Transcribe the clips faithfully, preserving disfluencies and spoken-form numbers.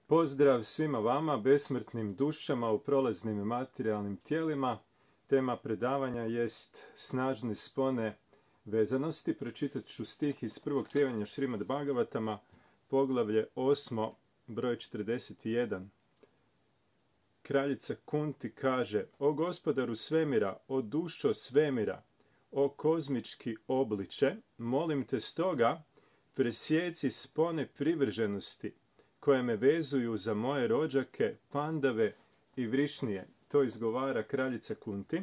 Pozdrav svima vama, besmrtnim dušama u prolaznim materijalnim tijelima. Tema predavanja jest snažne spone vezanosti. Pročitat ću stih iz prvog pjevanja Šrimad Bhagavatama, poglavlje osmo, broj četrdeset jedan. Kraljica Kunti kaže: O gospodaru svemira, o dušo svemira, o kozmički obliče, molim te stoga, presjeci spone privrženosti koje me vezuju za moje rođake, Pandave i Vrišnije. To izgovara kraljica Kunti,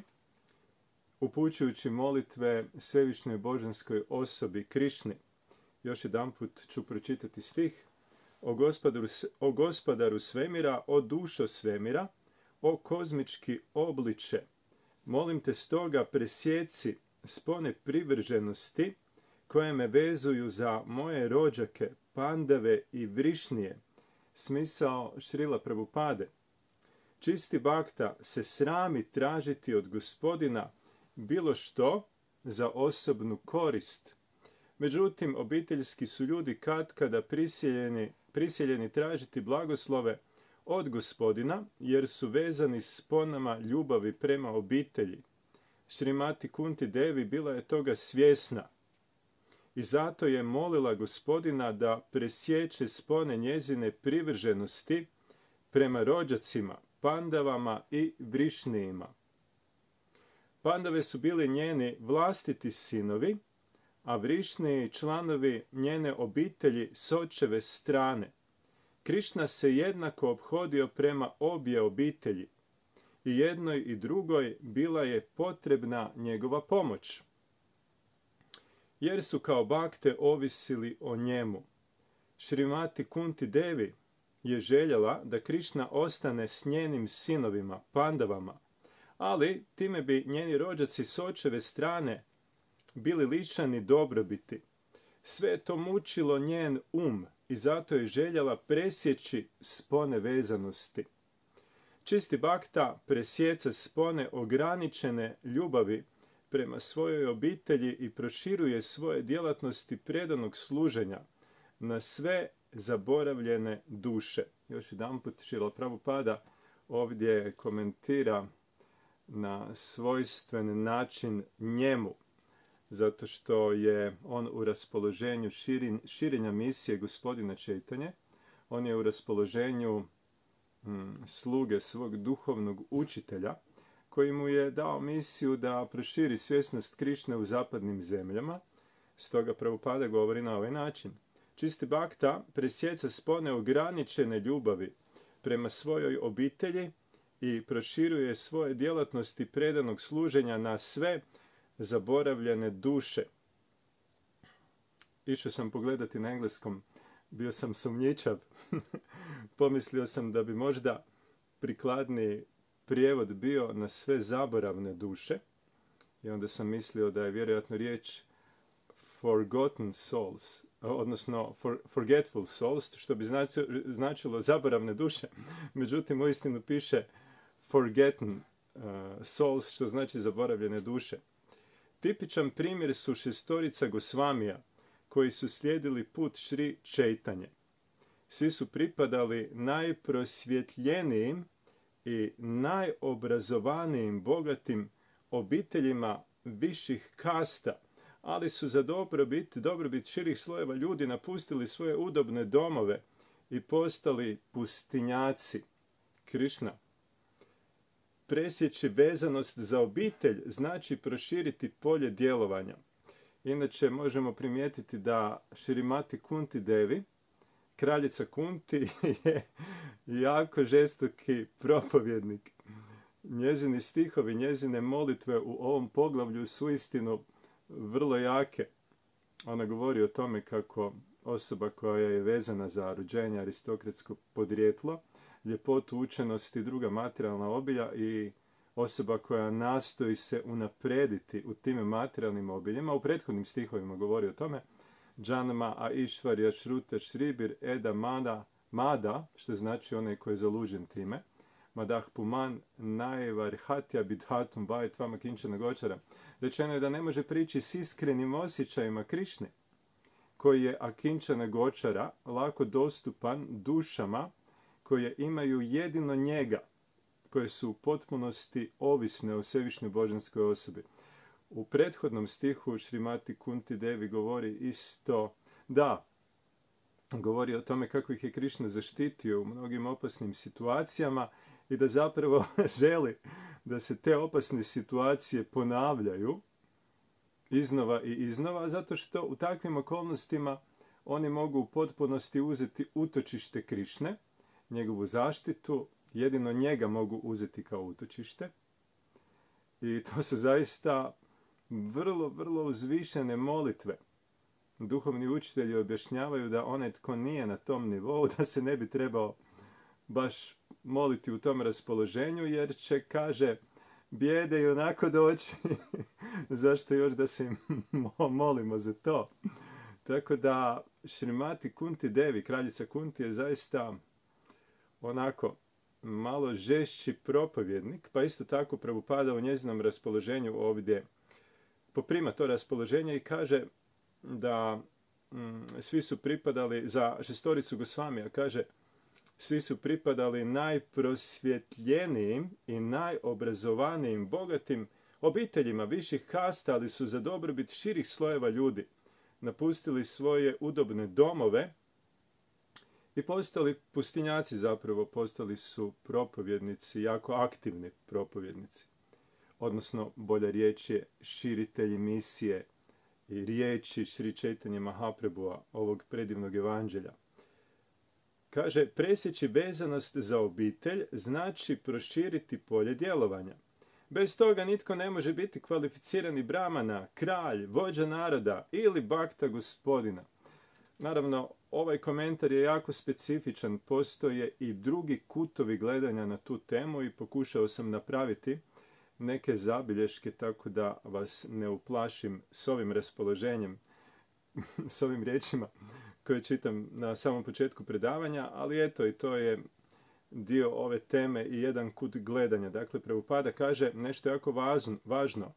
upućujući molitve svevišnjoj božanskoj osobi Krišni. Još jedanput ću pročitati stih. O gospodaru, o gospodaru svemira, o dušo svemira, o kozmički obliče, molim te stoga presjeci spone privrženosti koje me vezuju za moje rođake, Pandave i Vrišnije. Smisao Šrila Prabhupade. Čisti bakta se srami tražiti od gospodina bilo što za osobnu korist. Međutim, obiteljski su ljudi katkada prisiljeni, prisiljeni tražiti blagoslove od gospodina, jer su vezani sponama ljubavi prema obitelji. Šrimati Kunti Devi bila je toga svjesna i zato je molila gospodina da presječe spone njezine privrženosti prema rođacima, Pandavama i Vrišnijima. Pandave su bili njeni vlastiti sinovi, a Vrišniji članovi njene obitelji s očeve strane. Krišna se jednako ophodio prema obje obitelji i jednoj i drugoj bila je potrebna njegova pomoć, jer su kao bakte ovisili o njemu. Šrimati Kunti Devi je željela da Krišna ostane s njenim sinovima, Pandavama, ali time bi njeni rođaci s očeve strane bili lišani dobrobiti. Sve je to mučilo njen um i zato je željela presjeći spone vezanosti. Čisti bakta presjeca spone ograničene ljubavi prema svojoj obitelji i proširuje svoje djelatnosti predanog služenja na sve zaboravljene duše. Još jedanput Šrila Prabhupada ovdje komentira na svojstven način njemu, zato što je on u raspoloženju širin, širenja misije gospodina Čejtanje. On je u raspoloženju hm, sluge svog duhovnog učitelja, koji mu je dao misiju da proširi svjesnost Krišne u zapadnim zemljama. Stoga Prabhupada govori na ovaj način. Čisti bakta presjeca spone ograničene ljubavi prema svojoj obitelji i proširuje svoje djelatnosti predanog služenja na sve zaboravljene duše. Išao sam pogledati na engleskom, bio sam sumnjičav. Pomislio sam da bi možda prikladniji prijevod bio na sve zaboravne duše, i onda sam mislio da je vjerojatno riječ forgotten souls, odnosno for, forgetful souls, što bi značilo, značilo zaboravne duše. Međutim, uistinu piše forgotten uh, souls, što znači zaboravljene duše. Tipičan primjer su šestorica Gosvamija, koji su slijedili put Šri Čejtanje. Svi su pripadali najprosvjetljenijim i najobrazovanijim bogatim obiteljima viših kasta, ali su za dobrobit, dobrobit širih slojeva ljudi napustili svoje udobne domove i postali pustinjaci. Krišna. Presjeći vezanost za obitelj znači proširiti polje djelovanja. Inače možemo primijetiti da Šrimati Kunti Devi, kraljica Kunti, je jako žestoki propovjednik. Njezini stihovi, njezine molitve u ovom poglavlju su istinu vrlo jake. Ona govori o tome kako osoba koja je vezana za rođenje, aristokratsko podrijetlo, ljepotu, učenost i druga materijalna obilja i osoba koja nastoji se unaprediti u tim materijalnim obiljima. U prethodnim stihovima govori o tome. Džanama a Išvarja Šruta Šribir Eda Mada, Mada, što znači onaj koji je zalužen time. Madah Puman Najvarhatja Bidhatum Vajt Vama Kinčana Gočara. Rečeno je da ne može prići s iskrenim osjećajima Krišne, koji je Akinčana Gočara lako dostupan dušama koje imaju jedino njega, koje su u potpunosti ovisne o svevišnjoj božanskoj osobi. U prethodnom stihu Šrimati Kunti Devi govori isto, da, govori o tome kako ih je Krišna zaštitio u mnogim opasnim situacijama i da zapravo želi da se te opasne situacije ponavljaju iznova i iznova, zato što u takvim okolnostima oni mogu u potpunosti uzeti utočište Krišne, njegovu zaštitu, jedino njega mogu uzeti kao utočište. I to su zaista vrlo, vrlo uzvišene molitve. Duhovni učitelji objašnjavaju da onaj tko nije na tom nivou, da se ne bi trebao baš moliti u tom raspoloženju, jer će, kaže, bijede i onako doći. Zašto još da se molimo za to? Tako da Šrimati Kunti Devi, kraljica Kunti, je zaista onako malo žešći propovjednik, pa isto tako Prabhupada u njezinom raspoloženju ovdje poprima to raspoloženje i kaže da mm, svi su pripadali, za šestoricu Gosvamija, kaže, svi su pripadali najprosvjetljenijim i najobrazovanijim, bogatim obiteljima viših kasta, ali su za dobrobit širih slojeva ljudi napustili svoje udobne domove i postali pustinjaci, zapravo postali su propovjednici, jako aktivni propovjednici. Odnosno, bolja riječ je širitelji misije i riječi Šri Čaitanje Mahaprabhua, ovog predivnog evanđelja. Kaže, presjeći vezanost za obitelj znači proširiti polje djelovanja. Bez toga nitko ne može biti kvalificirani brahmana, kralj, vođa naroda ili bakta gospodina. Naravno, ovaj komentar je jako specifičan, postoje i drugi kutovi gledanja na tu temu i pokušao sam napraviti neke zabilješke tako da vas ne uplašim s ovim raspoloženjem, s ovim riječima koje čitam na samom početku predavanja, ali eto, i to je dio ove teme i jedan kut gledanja. Dakle, Prabhupada kaže nešto jako važno, važno.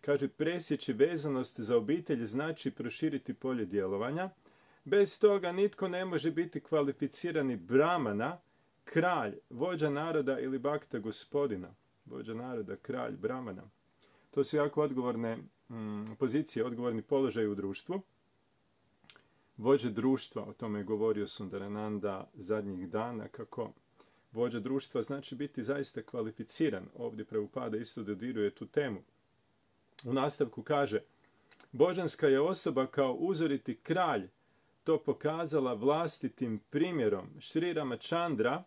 Kaže, presjeći vezanost za obitelj znači proširiti polje djelovanja. Bez toga nitko ne može biti kvalificirani brahmana, kralj, vođa naroda ili bakta gospodina. Vođa naroda, kralj, brahmana. To su jako odgovorne mm, pozicije, odgovorni položaj u društvu. Vođa društva, o tome je govorio Sundarananda zadnjih dana, kako vođa društva znači biti zaista kvalificiran. Ovdje Prabhupada isto dodiruje tu temu. U nastavku kaže, božanska je osoba kao uzoriti kralj to pokazala vlastitim primjerom. Šri Ramachandra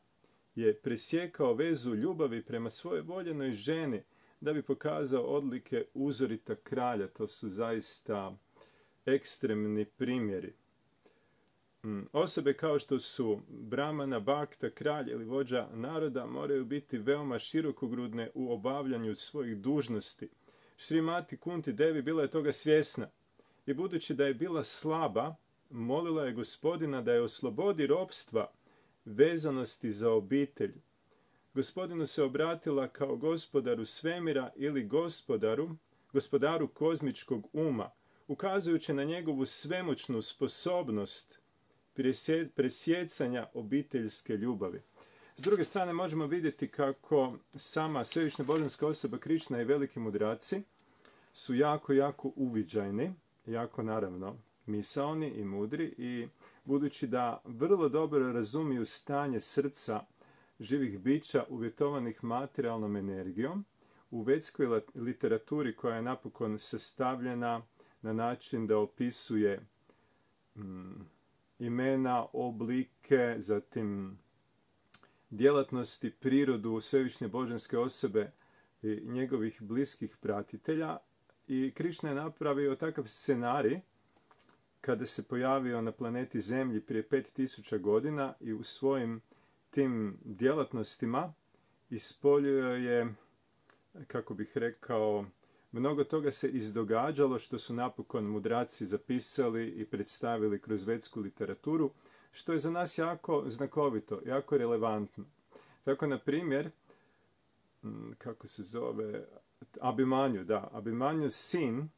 je presjekao vezu ljubavi prema svojoj voljenoj ženi da bi pokazao odlike uzorita kralja. To su zaista ekstremni primjeri. Osobe kao što su brahmana, bakta, kralj ili vođa naroda moraju biti veoma širokogrudne u obavljanju svojih dužnosti. Šrimati Kunti Devi bila je toga svjesna i budući da je bila slaba, molila je gospodina da je oslobodi ropstva vezanosti za obitelj. Gospodinu se obratila kao gospodaru svemira ili gospodaru, gospodaru kozmičkog uma, ukazujući na njegovu svemoćnu sposobnost presjecanja obiteljske ljubavi. S druge strane možemo vidjeti kako sama svevišnja božanska osoba Krišna i veliki mudraci su jako, jako uviđajni, jako naravno misaoni i mudri i budući da vrlo dobro razumiju stanje srca živih bića uvjetovanih materijalnom energijom, u vedskoj literaturi koja je napokon sastavljena na način da opisuje mm, imena, oblike, zatim djelatnosti, prirodu svevišnje božanske osobe i njegovih bliskih pratitelja. I Krišna je napravio takav scenarij kada se pojavio na planeti Zemlji prije pet tisuća godina i u svojim tim djelatnostima ispoljio je, kako bih rekao, mnogo toga se izdogađalo što su napokon mudraci zapisali i predstavili kroz vedsku literaturu, što je za nas jako znakovito, jako relevantno. Tako, na primjer, kako se zove, Abhimanyu, da, Abhimanyu sin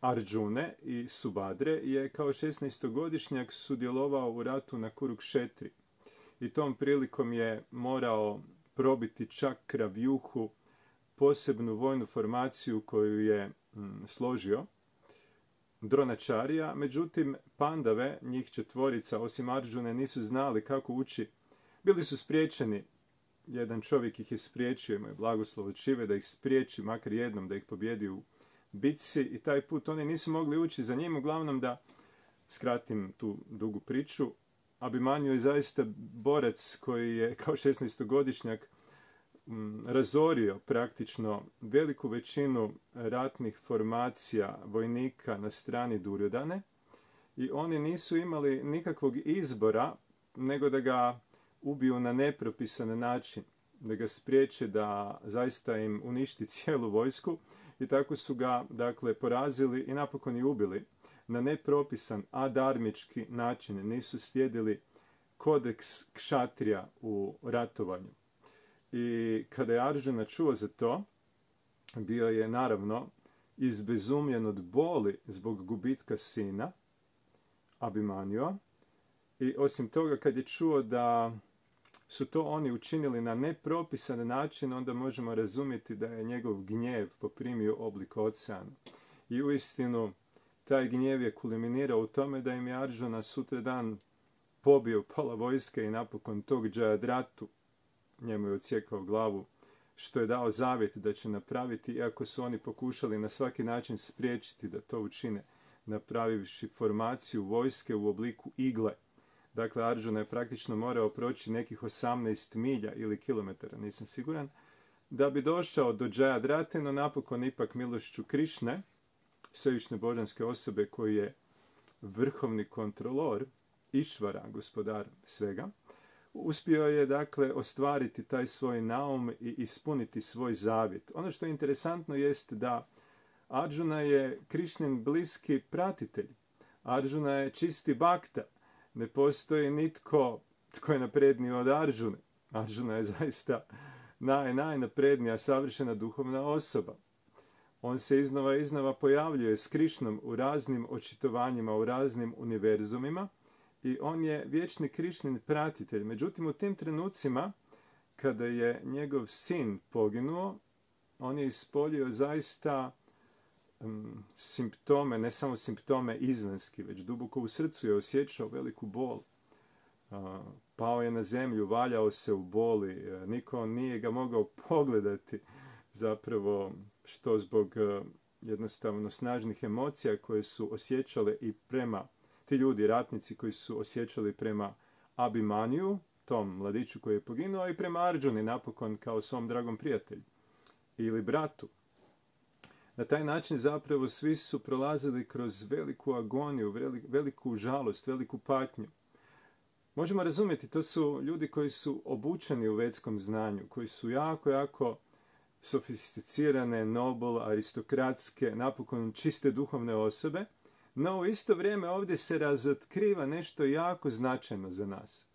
Arjune i Subhadre je kao šesnaestogodišnjak sudjelovao u ratu na Kurukšetri. i tom prilikom je morao probiti čakra vjuhu, posebnu vojnu formaciju koju je mm, složio Dronačarija. Međutim, Pandave, njih četvorica, osim Arjune, nisu znali kako ući. Bili su spriječeni. Jedan čovjek ih je spriječio, imao je blagoslov od Šive da ih spriječi, makar jednom da ih pobjedi u bitci, i taj put oni nisu mogli ući za njim. Uglavnom, da skratim tu dugu priču, Abimanju je zaista borac koji je kao šesnaestogodišnjak razorio praktično veliku većinu ratnih formacija vojnika na strani Duryodhane, i oni nisu imali nikakvog izbora nego da ga ubiju na nepropisan način, da ga spriječe da zaista im uništi cijelu vojsku, i tako su ga dakle porazili i napokon i ubili na nepropisan adarmički način. Nisu slijedili kodeks kšatrija u ratovanju. I kada je Arjuna čuo za to, bio je naravno izbezumljen od boli zbog gubitka sina, Abimanjua. I osim toga, kad je čuo da su to oni učinili na nepropisan način, onda možemo razumjeti da je njegov gnjev poprimio oblik oceana. I uistinu, taj gnjev je kulminirao u tome da im je Arjuna sutradan pobio pola vojske i napokon tog Jayadratu, njemu je odsjekao glavu, što je dao zavjet da će napraviti, iako su oni pokušali na svaki način spriječiti da to učine, napravivši formaciju vojske u obliku igle. Dakle, Arjuna je praktično morao proći nekih osamnaest milja ili kilometara, nisam siguran, da bi došao do Jayadrate, no napokon ipak milošću Krišne, svevišnje božanske osobe koji je vrhovni kontrolor, Išvara, gospodar svega, uspio je dakle ostvariti taj svoj naum i ispuniti svoj zavjet. Ono što je interesantno jest da Arjuna je Krišnin bliski pratitelj. Arjuna je čisti bakta. Ne postoji nitko tko je napredniji od Arjune. Arjuna je zaista naj, najnaprednija, savršena duhovna osoba. On se iznova iznova pojavljuje s Krišnom u raznim očitovanjima, u raznim univerzumima, i on je vječni Krišnin pratitelj. Međutim, u tim trenucima, kada je njegov sin poginuo, on je ispoljio zaista um, simptome, ne samo simptome izvanjski, već duboko u srcu je osjećao veliku bol. Uh, pao je na zemlju, valjao se u boli, uh, niko nije ga mogao pogledati, zapravo što zbog uh, jednostavno snažnih emocija koje su osjećale i prema ti ljudi, ratnici koji su osjećali prema Abimanju, tom mladiću koji je poginuo, i prema Arjuni napokon kao svom dragom prijatelju ili bratu. Na taj način zapravo svi su prolazili kroz veliku agoniju, veliku žalost, veliku patnju. Možemo razumjeti, to su ljudi koji su obučeni u vedskom znanju, koji su jako, jako sofisticirane, nobel, aristokratske, napokon čiste duhovne osobe, no u isto vrijeme ovdje se razotkriva nešto jako značajno za nas.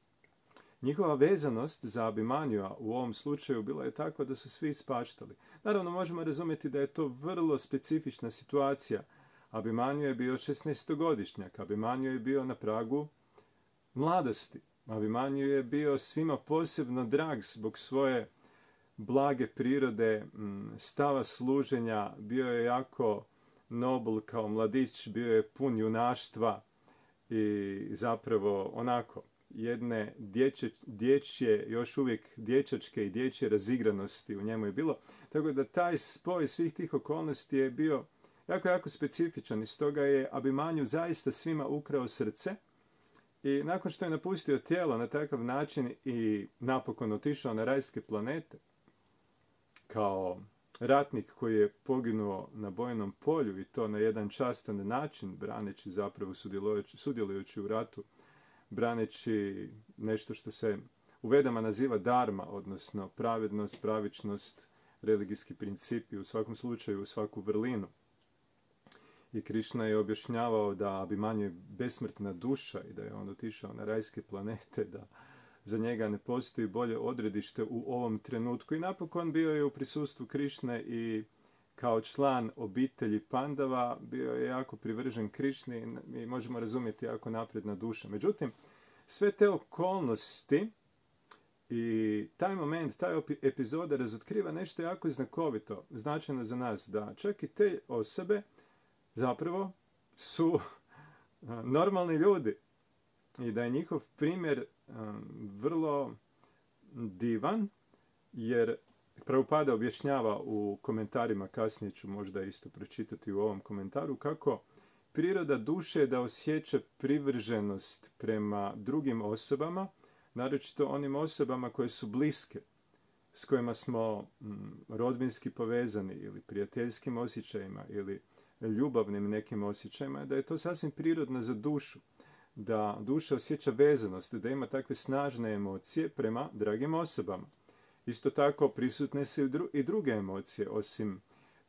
Njihova vezanost za Abimanjua u ovom slučaju bila je takva da su svi ispaštali. Naravno, možemo razumjeti da je to vrlo specifična situacija. Abimanju je bio šesnaestogodišnjak, Abimanju je bio na pragu mladosti. Abimanju je bio svima posebno drag zbog svoje blage prirode, stava služenja, bio je jako nobel kao mladić, bio je pun junaštva i zapravo onako jedne dječje, dječje, još uvijek dječačke i dječje razigranosti u njemu je bilo. Tako da taj spoj svih tih okolnosti je bio jako, jako specifičan i stoga je Abimanju zaista svima ukrao srce. I nakon što je napustio tijelo na takav način i napokon otišao na rajske planete, kao ratnik koji je poginuo na bojnom polju i to na jedan častan način, braneći zapravo sudjelujući, sudjelujući u ratu, braneći nešto što se u Vedama naziva dharma, odnosno pravednost, pravičnost, religijski principi, u svakom slučaju u svaku vrlinu. I Krišna je objašnjavao da Abimanju je besmrtna duša i da je on otišao na rajske planete, da za njega ne postoji bolje odredište u ovom trenutku. I napokon bio je u prisustvu Krišne i kao član obitelji Pandava bio je jako privržen Krišni i možemo razumjeti jako napredna duša. Međutim, sve te okolnosti I taj moment, taj epizoda razotkriva nešto jako znakovito, značajno za nas, da čak i te osobe zapravo su normalni ljudi i da je njihov primjer vrlo divan, jer Prabhupada objašnjava u komentarima, kasnije ću možda isto pročitati u ovom komentaru, kako priroda duše je da osjeća privrženost prema drugim osobama, naročito onim osobama koje su bliske, s kojima smo mm, rodbinski povezani ili prijateljskim osjećajima ili ljubavnim nekim osjećajima, da je to sasvim prirodno za dušu, da duša osjeća vezanost, da ima takve snažne emocije prema dragim osobama. Isto tako prisutne su i druge emocije, osim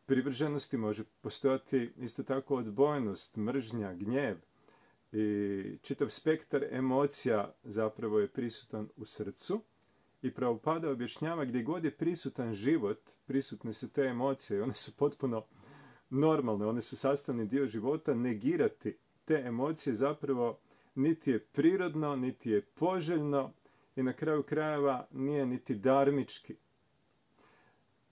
privrženosti može postojati isto tako odbojnost, mržnja, gnjev i čitav spektar emocija zapravo je prisutan u srcu i Prabhupada objašnjava gdje god je prisutan život, prisutne su te emocije i one su potpuno normalne, one su sastavni dio života, negirati te emocije zapravo niti je prirodno, niti je poželjno i na kraju krajeva nije niti darmički.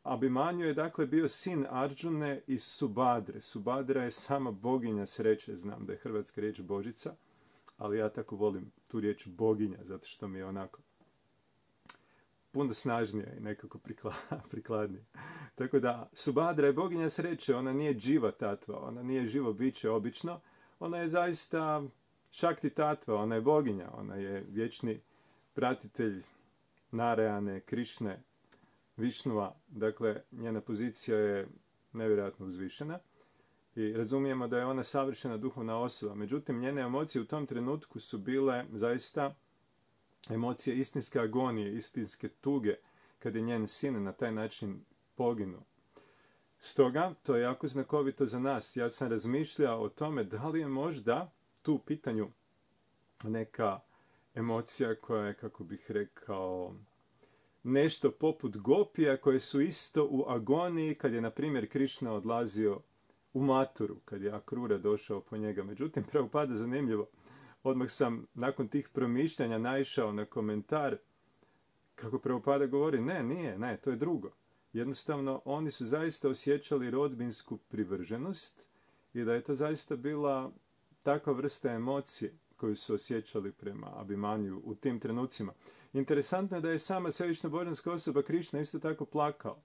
Abhimanyu je dakle bio sin Arjune i Subhadre. Subhadra je sama boginja sreće, znam da je hrvatska riječ božica, ali ja tako volim tu riječ boginja, zato što mi je onako puno snažnija i nekako prikladnija. Tako da, Subhadra je boginja sreće, ona nije dživa tatva, ona nije živo biće obično, ona je zaista šakti tatva, ona je boginja, ona je vječni pratitelj Narayane, Krišne, Višnua, dakle njena pozicija je nevjerojatno uzvišena i razumijemo da je ona savršena duhovna osoba. Međutim, njene emocije u tom trenutku su bile zaista emocije istinske agonije, istinske tuge, kad je njen sin na taj način poginuo. Stoga, to je jako znakovito za nas. Ja sam razmišljao o tome da li je možda tu u pitanju neka emocija koja je, kako bih rekao, nešto poput gopija koje su isto u agoniji kad je, na primjer, Krišna odlazio u Maturu, kad je Akrura došao po njega. Međutim, Prabhupada zanimljivo. Odmah sam nakon tih promišljanja naišao na komentar kako Prabhupada govori, ne, nije, ne, to je drugo. Jednostavno, oni su zaista osjećali rodbinsku privrženost i da je to zaista bila takva vrsta emocije koju su osjećali prema Abhimanyu u tim trenucima. Interesantno je da je sama svevišnja božanska osoba Krišna isto tako plakao.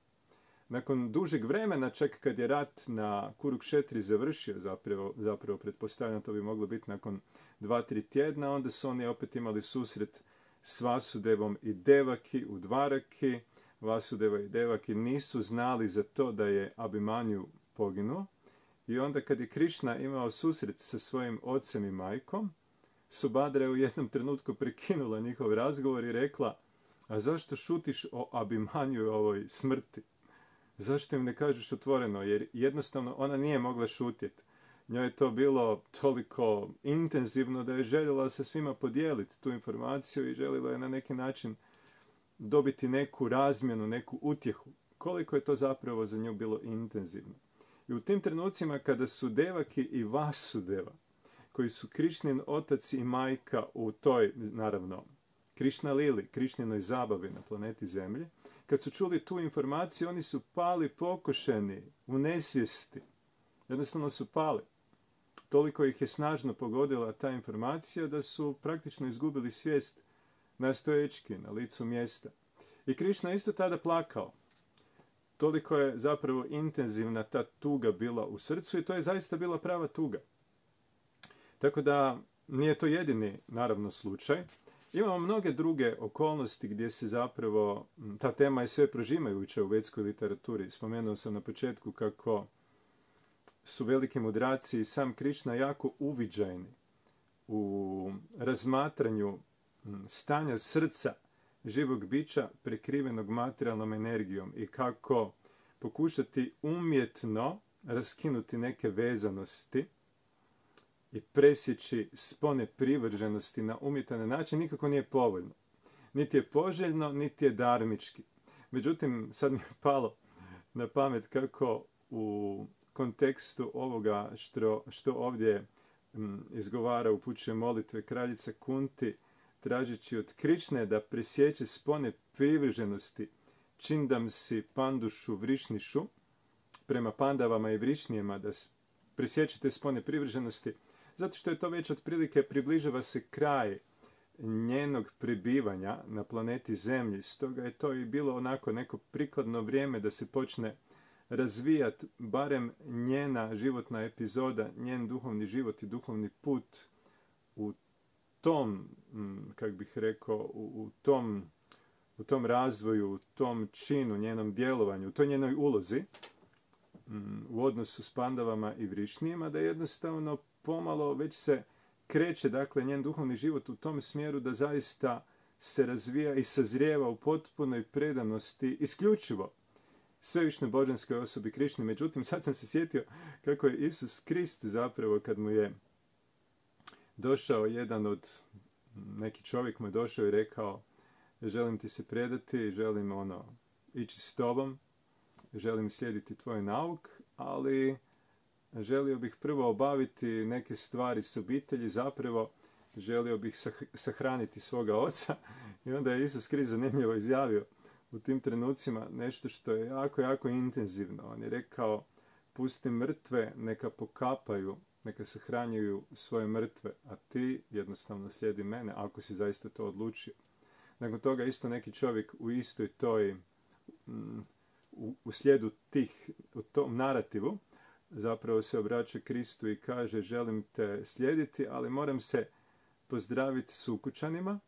Nakon dužeg vremena, čak kad je rat na Kurukšetri završio, zapravo, zapravo pretpostavljam to bi moglo biti nakon dva, tri tjedna, onda su oni opet imali susret s Vasudevom i Devaki u Dvaraki. Vasudeva i Devaki nisu znali za to da je Abhimanyu poginuo. I onda kad je Krišna imao susret sa svojim ocem i majkom, Subhadra je u jednom trenutku prekinula njihov razgovor i rekla, a zašto šutiš o Abhimanyu i ovoj smrti? Zašto im ne kažeš otvoreno? Jer jednostavno ona nije mogla šutjeti. Njoj je to bilo toliko intenzivno da je željela sa svima podijeliti tu informaciju i željela je na neki način dobiti neku razmjenu, neku utjehu. Koliko je to zapravo za nju bilo intenzivno. I u tim trenucima kada su Devaki i Vasudeva, koji su Krišnin otac i majka u toj, naravno, Krišna Lili, Krišninoj zabavi na planeti Zemlji, kad su čuli tu informaciju, oni su pali pokošeni u nesvijesti. Jednostavno su pali. Toliko ih je snažno pogodila ta informacija da su praktično izgubili svijest na stoječki, na licu mjesta. I Krišna isto tada plakao. Toliko je zapravo intenzivna ta tuga bila u srcu i to je zaista bila prava tuga. Tako da nije to jedini, naravno, slučaj. Imamo mnoge druge okolnosti gdje se zapravo, ta tema je sve prožimajuća u vedskoj literaturi. Spomenuo sam na početku kako su veliki mudraci i sam Krišna jako uviđajni u razmatranju stanja srca živog bića prekrivenog materijalnom energijom i kako pokušati umjetno raskinuti neke vezanosti i presjeći spone privrženosti na umjetan način nikako nije povoljno. Niti je poželjno, niti je darmički. Međutim, sad mi je palo na pamet kako u kontekstu ovoga što, što ovdje m, izgovara, upućuje molitve kraljica Kunti, tražeći od Krišne da presjeće spone privrženosti, čindam si pandušu vrišnišu, prema pandavama i vrišnijima, da presjećete spone privrženosti, zato što je to već otprilike približava se kraj njenog prebivanja na planeti Zemlji. Stoga je to i bilo onako neko prikladno vrijeme da se počne razvijati barem njena životna epizoda, njen duhovni život i duhovni put u tom, kak bih rekao, u, u tom u tom razvoju, u tom činu, njenom djelovanju, u toj njenoj ulozi u odnosu s pandavama i vrišnijima, da jednostavno pomalo već se kreće, dakle, njen duhovni život u tom smjeru da zaista se razvija i sazrijeva u potpunoj predanosti isključivo svevišnjoj božanskoj osobi Krišni. Međutim, sad sam se sjetio kako je Isus Krist zapravo, kad mu je došao jedan od, neki čovjek mu je došao i rekao: želim ti se predati, želim ono, ići s tobom, želim slijediti tvoj nauk, ali želio bih prvo obaviti neke stvari s obitelji, zapravo želio bih sahraniti svoga oca. I onda je Isus Krist zanimljivo izjavio u tim trenucima nešto što je jako, jako intenzivno. On je rekao: pusti mrtve, neka pokapaju, neka sahranjuju svoje mrtve, a ti jednostavno slijedi mene, ako si zaista to odlučio. Nakon toga isto neki čovjek u istoj toj, u, u slijedu tih, u tom narativu, zapravo se obraća Kristu i kaže: želim te slijediti, ali moram se pozdraviti s ukućanima,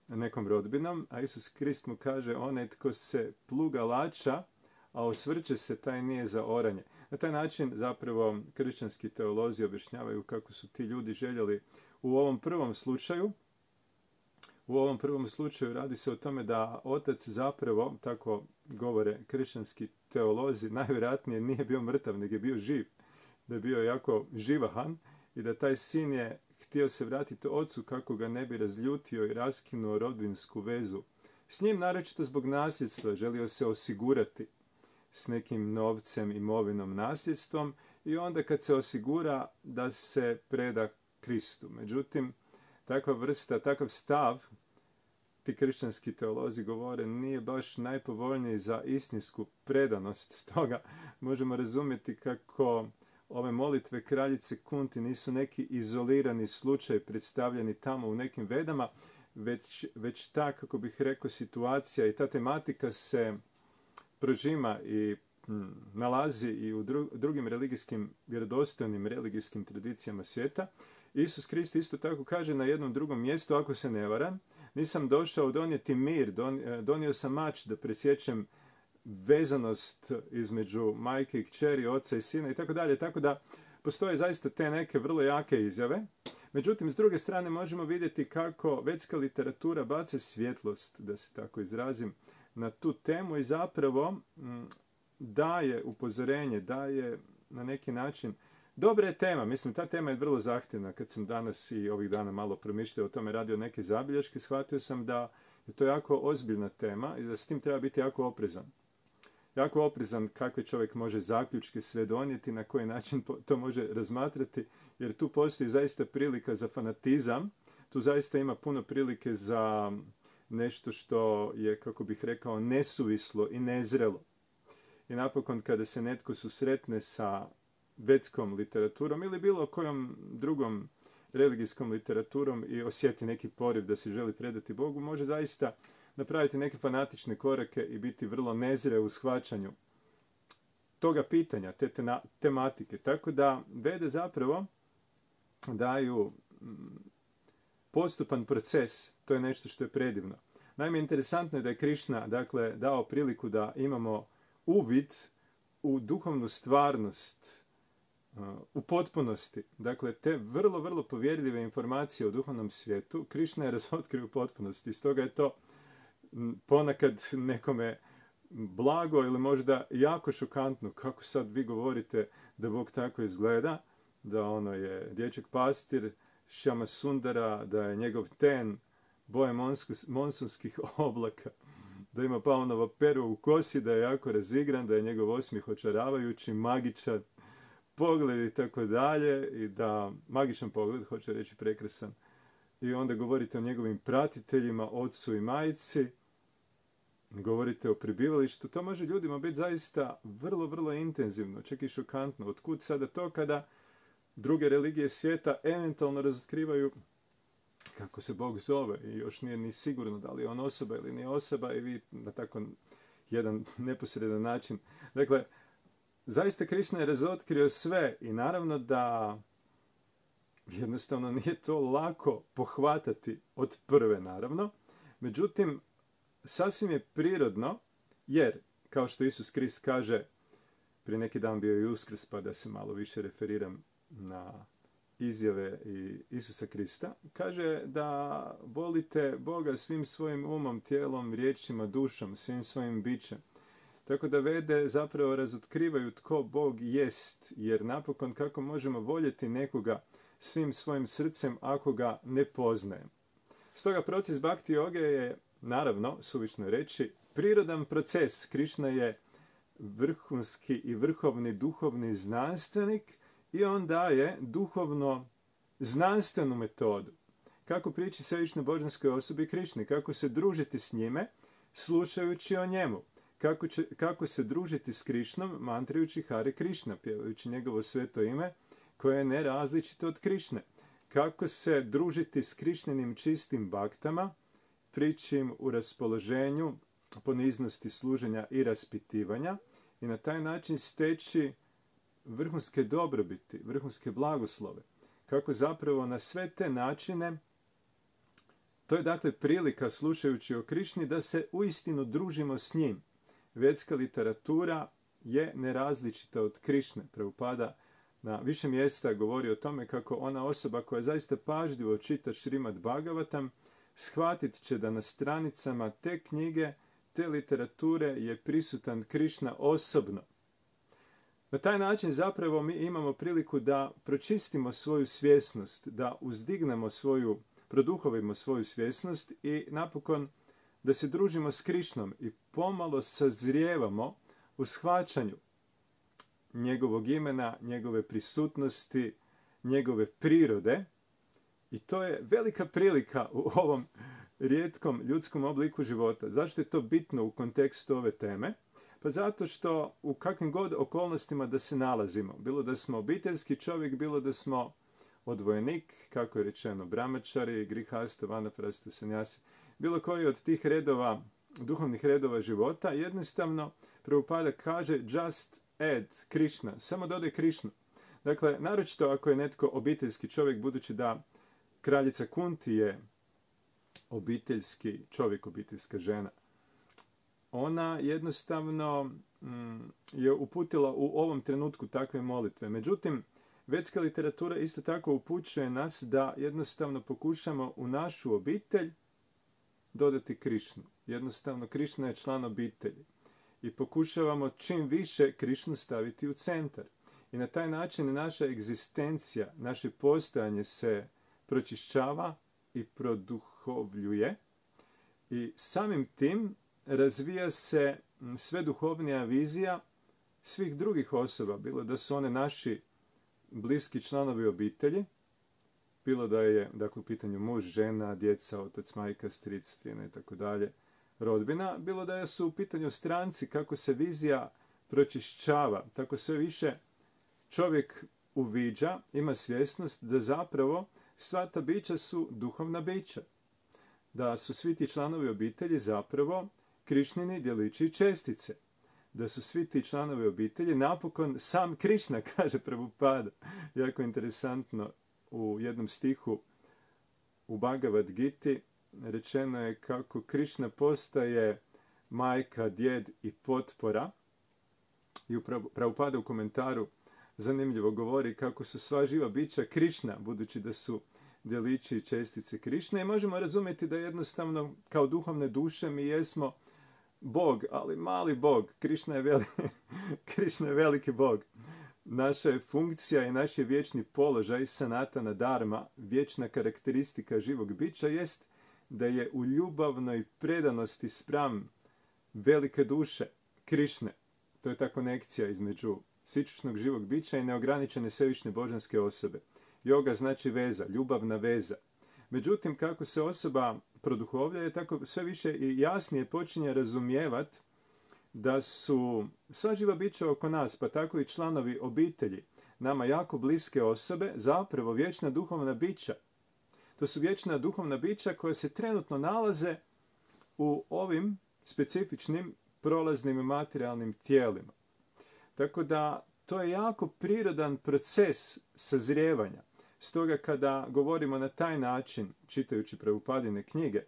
nekom rodbinom. A Isus Krist mu kaže: onaj tko se pluga lača, a osvrće se, taj nije za oranje. Na taj način zapravo kršćanski teolozi objašnjavaju kako su ti ljudi željeli u ovom prvom slučaju, u ovom prvom slučaju radi se o tome da otac zapravo, tako govore kršćanski teolozi, najvjerojatnije nije bio mrtav, nego je bio živ. Da je bio jako živahan i da taj sin je htio se vratiti ocu kako ga ne bi razljutio i raskinuo rodbinsku vezu. S njim, naročito zbog nasljedstva, želio se osigurati s nekim novcem, imovinom, nasljedstvom, i onda kad se osigura da se preda Kristu. Međutim, takva vrsta, takav stav, ti kršćanski teolozi govore, nije baš najpovoljniji za istinsku predanost. Stoga možemo razumjeti kako ove molitve kraljice Kunti nisu neki izolirani slučaj predstavljeni tamo u nekim vedama, već, već ta, kako bih rekao, situacija i ta tematika se prožima i hm, nalazi i u dru, drugim religijskim, vjerodostojnim religijskim tradicijama svijeta. Isus Krist isto tako kaže na jednom drugom mjestu, ako se ne varam: nisam došao donijeti mir, don, donio sam mač da presjećem vezanost između majke i kćeri, oca i sina i tako dalje. Tako da postoje zaista te neke vrlo jake izjave. Međutim, s druge strane možemo vidjeti kako vedska literatura baca svjetlost, da se tako izrazim, na tu temu i zapravo m, daje upozorenje, daje na neki način. Dobra je tema, mislim, ta tema je vrlo zahtjevna. Kad sam danas i ovih dana malo promišljao o tome, radio neke zabilješke, shvatio sam da je to jako ozbiljna tema i da s tim treba biti jako oprezan. Jako oprezan kakve čovjek može zaključke sve donijeti, na koji način to može razmatrati, jer tu postoji zaista prilika za fanatizam, tu zaista ima puno prilike za nešto što je, kako bih rekao, nesuvislo i nezrelo. I napokon, kada se netko susretne sa vedskom literaturom ili bilo kojom drugom religijskom literaturom i osjeti neki poriv da se želi predati Bogu, može zaista napraviti neke fanatične korake i biti vrlo nezre u shvaćanju toga pitanja, te tena, tematike. Tako da vede zapravo daju postupan proces, to je nešto što je predivno. Naime, interesantno je da je Krišna, dakle, dao priliku da imamo uvid u duhovnu stvarnost u potpunosti. Dakle, te vrlo, vrlo povjerljive informacije o duhovnom svijetu Krišna je razotkrio u potpunosti. Stoga je to ponekad nekome blago ili možda jako šokantno. Kako sad vi govorite da Bog tako izgleda, da ono je dječak pastir, Šama Sundara, da je njegov ten boje monsunskih oblaka, da ima Pavlova pero u kosi, da je jako razigran, da je njegov osmijeh očaravajući, magičan pogled i tako dalje, i da magičan pogled, hoće reći prekrasan, i onda govorite o njegovim pratiteljima, ocu i majci, govorite o prebivalištu, to može ljudima biti zaista vrlo, vrlo intenzivno, čak i šokantno. Otkud sada to kada druge religije svijeta eventualno razotkrivaju kako se Bog zove i još nije ni sigurno da li je on osoba ili nije osoba i vi na tako jedan neposredan način. Dakle, zaista Krišna je razotkrio sve i naravno da jednostavno nije to lako pohvatati od prve, naravno. Međutim, sasvim je prirodno, jer, kao što Isus Krist kaže, prije neki dan bio je Uskrs, pa da se malo više referiram na izjave i Isusa Krista, kaže da volite Boga svim svojim umom, tijelom, riječima, dušom, svim svojim bićem. Tako da Vede zapravo razotkrivaju tko Bog jest, jer napokon kako možemo voljeti nekoga svim svojim srcem ako ga ne poznajemo. Stoga proces Bhakti joge je, naravno, suvišno je reći, prirodan proces. Krišna je vrhunski i vrhovni duhovni znanstvenik i on daje duhovno znanstvenu metodu. Kako prići svevišnjoj božanskoj osobi Krišni, kako se družiti s njime, slušajući o njemu. Kako, će, kako se družiti s Krišnom, mantrajući Hare Krišna, pjevajući njegovo sveto ime, koje je nerazličito od Krišne. Kako se družiti s Krišninim čistim baktama, prići im u raspoloženju, poniznosti služenja i raspitivanja i na taj način steći vrhunske dobrobiti, vrhunske blagoslove. Kako zapravo na sve te načine, to je dakle prilika slušajući o Krišni da se uistinu družimo s njim. Vedska literatura je nerazličita od Krišne. Prabhupada na više mjesta govori o tome kako ona osoba koja zaista pažljivo čita Šrimad Bhagavatam shvatit će da na stranicama te knjige, te literature je prisutan Krišna osobno. Na taj način zapravo mi imamo priliku da pročistimo svoju svjesnost, da uzdignemo svoju, produhovimo svoju svjesnost i napokon da se družimo s Krišnom i pomalo sazrijevamo u shvaćanju njegovog imena, njegove prisutnosti, njegove prirode. I to je velika prilika u ovom rijetkom ljudskom obliku života. Zašto je to bitno u kontekstu ove teme? Pa zato što u kakvim god okolnostima da se nalazimo, bilo da smo obiteljski čovjek, bilo da smo odvojenik, kako je rečeno, brahmačari, grihasta, vanaprasta, sanjasi, bilo koji od tih redova, duhovnih redova života, jednostavno Prabhupada kaže just add Krishna, samo dodaj Krišnu. Dakle, naročito ako je netko obiteljski čovjek, budući da kraljica Kunti je obiteljski čovjek, obiteljska žena, ona jednostavno mm, je uputila u ovom trenutku takve molitve. Međutim, vedska literatura isto tako upućuje nas da jednostavno pokušamo u našu obitelj dodati Krišnu. Jednostavno, Krišna je član obitelji. I pokušavamo čim više Krišnu staviti u centar. I na taj način naša egzistencija, naše postojanje se pročišćava i produhovljuje. I samim tim razvija se sve duhovnija vizija svih drugih osoba, bilo da su one naši bliski članovi obitelji, bilo da je dakle, u pitanju muž, žena, djeca, otac, majka, stric, strina i tako dalje, rodbina, bilo da su u pitanju stranci, kako se vizija pročišćava, tako sve više čovjek uviđa, ima svjesnost da zapravo sva ta bića su duhovna bića, da su svi ti članovi obitelji zapravo Krišnini djelići i čestice, da su svi ti članovi obitelji napokon sam Krišna, kaže Prabhupada. Jako interesantno, u jednom stihu u Bhagavad Giti rečeno je kako Krišna postaje majka, djed i potpora. I u Prabhupada u komentaru zanimljivo govori kako su sva živa bića Krišna, budući da su djelići i čestice Krišne. I možemo razumjeti da jednostavno kao duhovne duše mi jesmo Bog, ali mali Bog. Krišna je, veli, Krišna je veliki Bog. Naša je funkcija i naš je vječni položaj, sanatana dharma, vječna karakteristika živog bića jest da je u ljubavnoj predanosti spram velike duše Krišne. To je ta konekcija između sičušnog živog bića i neograničene svevišnje božanske osobe. Yoga znači veza, ljubavna veza. Međutim, kako se osoba produhovljaje, tako sve više i jasnije počinje razumijevati da su sva živa bića oko nas, pa tako i članovi obitelji, nama jako bliske osobe, zapravo vječna duhovna bića. To su vječna duhovna bića koja se trenutno nalaze u ovim specifičnim prolaznim i materijalnim tijelima. Tako da to je jako prirodan proces sazrijevanja. Stoga kada govorimo na taj način, čitajući Prabhupadine knjige,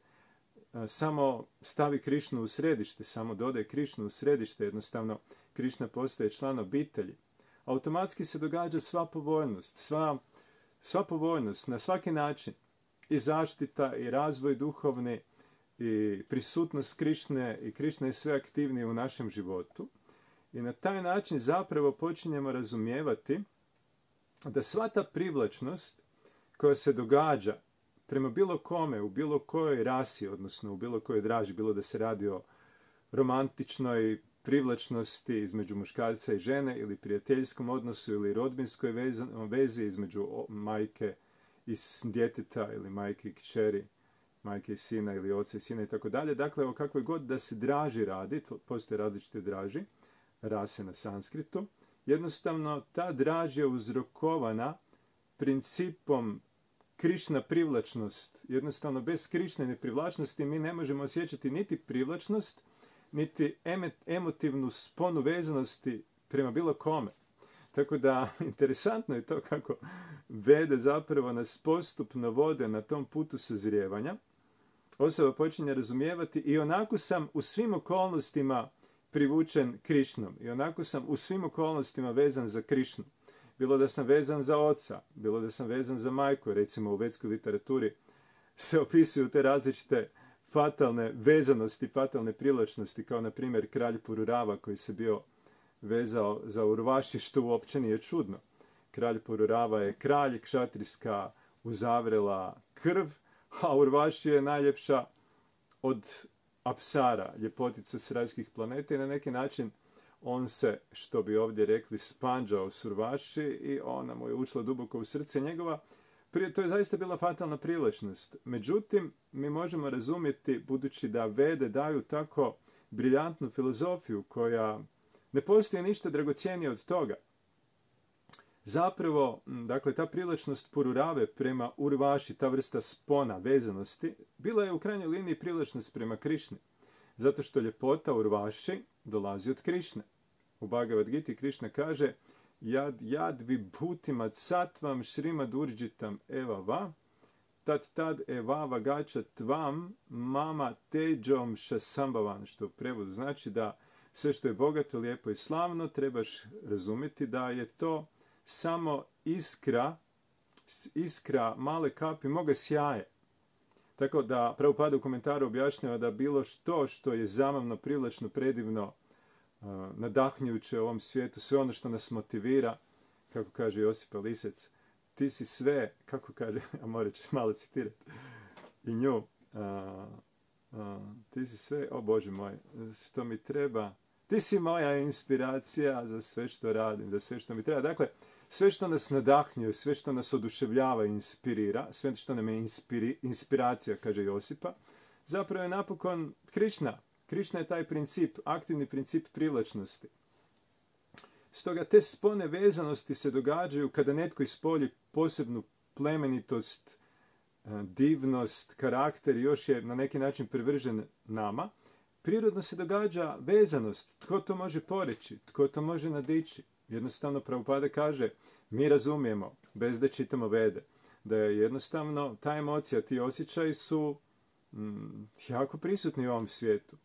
samo stavi Krišnu u središte, samo dodaj Krišnu u središte, jednostavno Krišna postaje član obitelji, automatski se događa sva povoljnost, sva, sva povoljnost na svaki način, i zaštita, i razvoj duhovni, i prisutnost Krišne, i Krišna je sve aktivnije u našem životu. I na taj način zapravo počinjemo razumijevati da sva ta privlačnost koja se događa prema bilo kome, u bilo kojoj rasi, odnosno u bilo kojoj draži, bilo da se radi o romantičnoj privlačnosti između muškarca i žene, ili prijateljskom odnosu, ili rodbinskoj vezi, vezi između majke i djeteta, ili majke i kćeri, majke i sina, ili oca i sina i tako dalje. Dakle, o kakvoj god da se draži radi, postoje različite draži, rase na sanskritu, jednostavno ta draž je uzrokovana principom Krišna privlačnost. Jednostavno, bez Krišnine privlačnosti mi ne možemo osjećati niti privlačnost, niti emotivnu sponu vezanosti prema bilo kome. Tako da, interesantno je to kako Vede zapravo nas postupno vode na tom putu sazrijevanja. Osoba počinje razumijevati i onako sam u svim okolnostima privučen Krišnom. I onako sam u svim okolnostima vezan za Krišnu. Bilo da sam vezan za oca, bilo da sam vezan za majku, recimo u vedskoj literaturi se opisuju te različite fatalne vezanosti, fatalne privlačnosti, kao na primjer kralj Pururava koji se bio vezao za Urvaši, što uopće nije čudno. Kralj Pururava je kralj, kšatrijska uzavrela krv, a Urvaši je najljepša od Apsara, ljepotica s rajskih planeta, i na neki način on se, što bi ovdje rekli, spanđao s Urvaši i ona mu je ušla duboko u srce njegova. Prije, to je zaista bila fatalna privlačnost. Međutim, mi možemo razumjeti, budući da Vede daju tako briljantnu filozofiju koja ne postoji ništa dragocjenije od toga. Zapravo, dakle, ta privlačnost Pururave prema Urvaši, ta vrsta spona, vezanosti, bila je u krajnjoj liniji privlačnost prema Krišni. Zato što ljepota Urvaši dolazi od Krišne. U Bhagavad Giti Krišna kaže Jad jad vibhutima catvam šrimad urđitam eva va, tad tad eva vagača tvam mama teđom šasambavan, što u prevodu znači da sve što je bogato, lijepo i slavno trebaš razumjeti da je to samo iskra, iskra male kapi moga sjaje. Tako da Prabhupada u komentaru objašnjava da bilo što što je zamavno, privlačno, predivno, nadahnjujuće u ovom svijetu, sve ono što nas motivira, kako kaže Josipa Lisec, ti si sve, kako kaže, a morat ćeš malo citirati i nju, a, a, ti si sve, o Bože moj, što mi treba, ti si moja inspiracija za sve što radim, za sve što mi treba. Dakle, sve što nas nadahnjuje, sve što nas oduševljava i inspirira, sve što nam je inspiri, inspiracija, kaže Josipa, zapravo je napokon Krišna. Krišna je taj princip, aktivni princip privlačnosti. Stoga te spone vezanosti se događaju kada netko ispolji posebnu plemenitost, divnost, karakter i još je na neki način privržen nama. Prirodno se događa vezanost. Tko to može poreći? Tko to može nadići? Jednostavno Prabhupada kaže, mi razumijemo, bez da čitamo Vede, da je jednostavno ta emocija, ti osjećaji su mm, jako prisutni u ovom svijetu.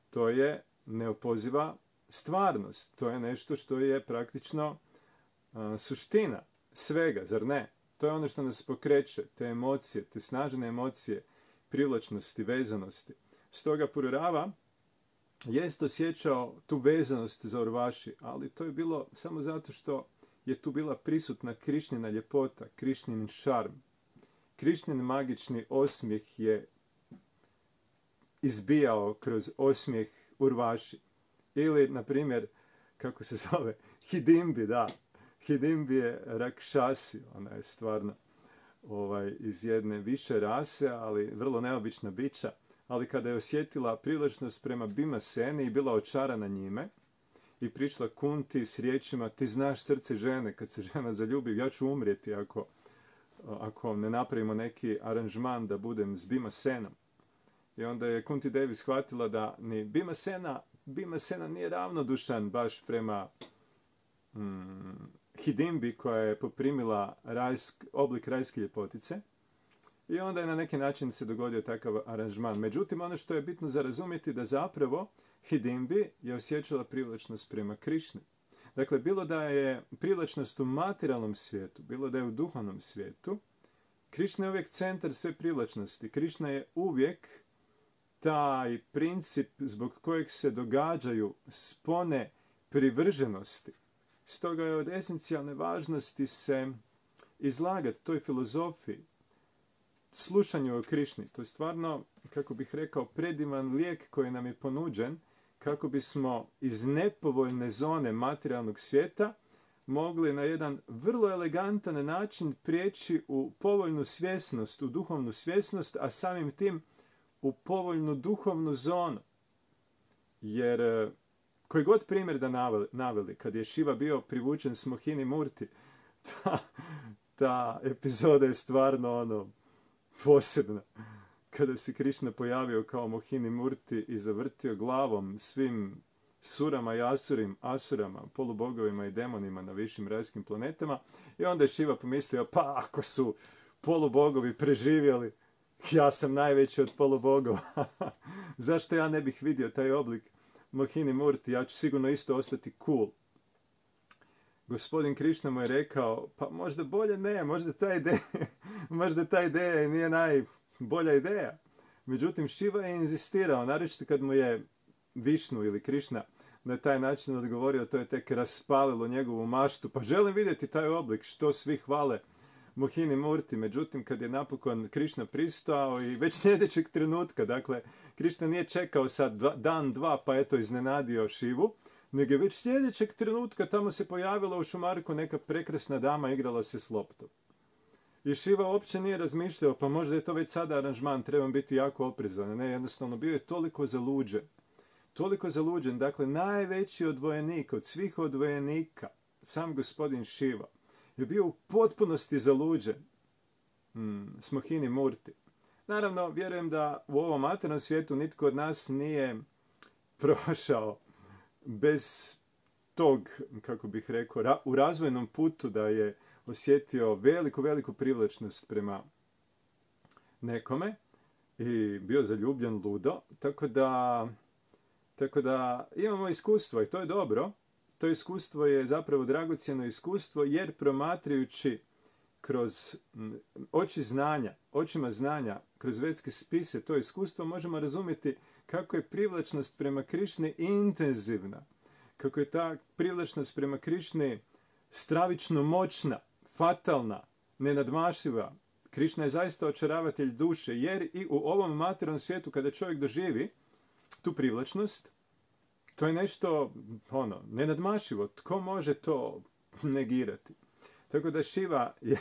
To je neopoziva stvarnost. To je nešto što je praktično a, suština svega, zar ne? To je ono što nas pokreće, te emocije, te snažne emocije, privlačnosti, vezanosti. Stoga Pururava jest osjećao tu vezanost za Urvaši, ali to je bilo samo zato što je tu bila prisutna Krišnina ljepota, Krišnin šarm. Krišnin magični osmijeh je izbijao kroz osmijeh Urvaši. Ili, na primjer, kako se zove, Hidimbi, da. Hidimbi je Rakšasi, ona je stvarno ovaj, iz jedne više rase, ali vrlo neobična bića. Ali kada je osjetila privlačnost prema Bhimaseni i bila očarana njime, i prišla Kunti s riječima: ti znaš srce žene, kad se žena zaljubi, ja ću umrijeti ako, ako ne napravimo neki aranžman da budem s Bhimasenom. I onda je Kunti Devi shvatila da ni Bhimasena, Bhimasena nije ravnodušan baš prema mm, Hidimbi, koja je poprimila rajsk, oblik rajske ljepotice. I onda je na neki način se dogodio takav aranžman. Međutim, ono što je bitno za razumjeti da zapravo Hidimbi je osjećala privlačnost prema Krišni. Dakle, bilo da je privlačnost u materijalnom svijetu, bilo da je u duhovnom svijetu, Krišna je uvijek centar sve privlačnosti. Krišna je uvijek taj princip zbog kojeg se događaju spone privrženosti. Stoga je od esencijalne važnosti se izlagati toj filozofiji, slušanju o Krišni. To je stvarno, kako bih rekao, predivan lijek koji nam je ponuđen kako bismo iz nepovoljne zone materijalnog svijeta mogli na jedan vrlo elegantan način prijeći u povoljnu svjesnost, u duhovnu svjesnost, a samim tim u povoljnu duhovnu zonu. Jer koji god primjer da naveli, naveli kad je Šiva bio privučen s Mohini Murti, ta, ta epizoda je stvarno ono posebna. Kada se Krišna pojavio kao Mohini Murti i zavrtio glavom svim surama i asurim, asurama, polubogovima i demonima na višim rajskim planetama, i onda je Šiva pomislio: pa ako su polubogovi preživjeli, ja sam najveći od polubogova. Zašto ja ne bih vidio taj oblik Mohini Murti? Ja ću sigurno isto ostati cool. Gospodin Krišna mu je rekao: pa možda bolje ne, možda ta ideja, možda ta ideja nije najbolja ideja. Međutim, Šiva je inzistirao, naročito kad mu je Višnu ili Krišna na taj način odgovorio, to je tek raspalilo njegovu maštu. Pa želim vidjeti taj oblik, što svi hvale Mohini Murti. Međutim, kad je napokon Krišna pristao i već sljedećeg trenutka, dakle, Krišna nije čekao sad dva, dan, dva, pa eto iznenadio Šivu, nego je već sljedećeg trenutka tamo se pojavila u šumarku neka prekrasna dama, igrala se s loptom. I Šiva uopće nije razmišljao, pa možda je to već sada aranžman, trebam biti jako oprezan. Ne, jednostavno bio je toliko zaluđen. Toliko zaluđen, dakle, najveći odvojenik od svih odvojenika, sam gospodin Šiva, je bio u potpunosti zaluđen hmm, s Mohini Murti. Naravno, vjerujem da u ovom materijalnom svijetu nitko od nas nije prošao bez tog, kako bih rekao, ra- u razvojnom putu da je osjetio veliku, veliku privlačnost prema nekome i bio zaljubljen ludo. Tako da, tako da imamo iskustvo i to je dobro. To iskustvo je zapravo dragocjeno iskustvo, jer promatrajući kroz oči znanja, očima znanja, kroz vedske spise, to iskustvo možemo razumjeti kako je privlačnost prema Krišni intenzivna, kako je ta privlačnost prema Krišni stravično moćna, fatalna, nenadmašiva. Krišna je zaista očaravatelj duše, jer i u ovom materijalnom svijetu kada čovjek doživi tu privlačnost, to je nešto ono, nenadmašivo. Tko može to negirati? Tako da Šiva je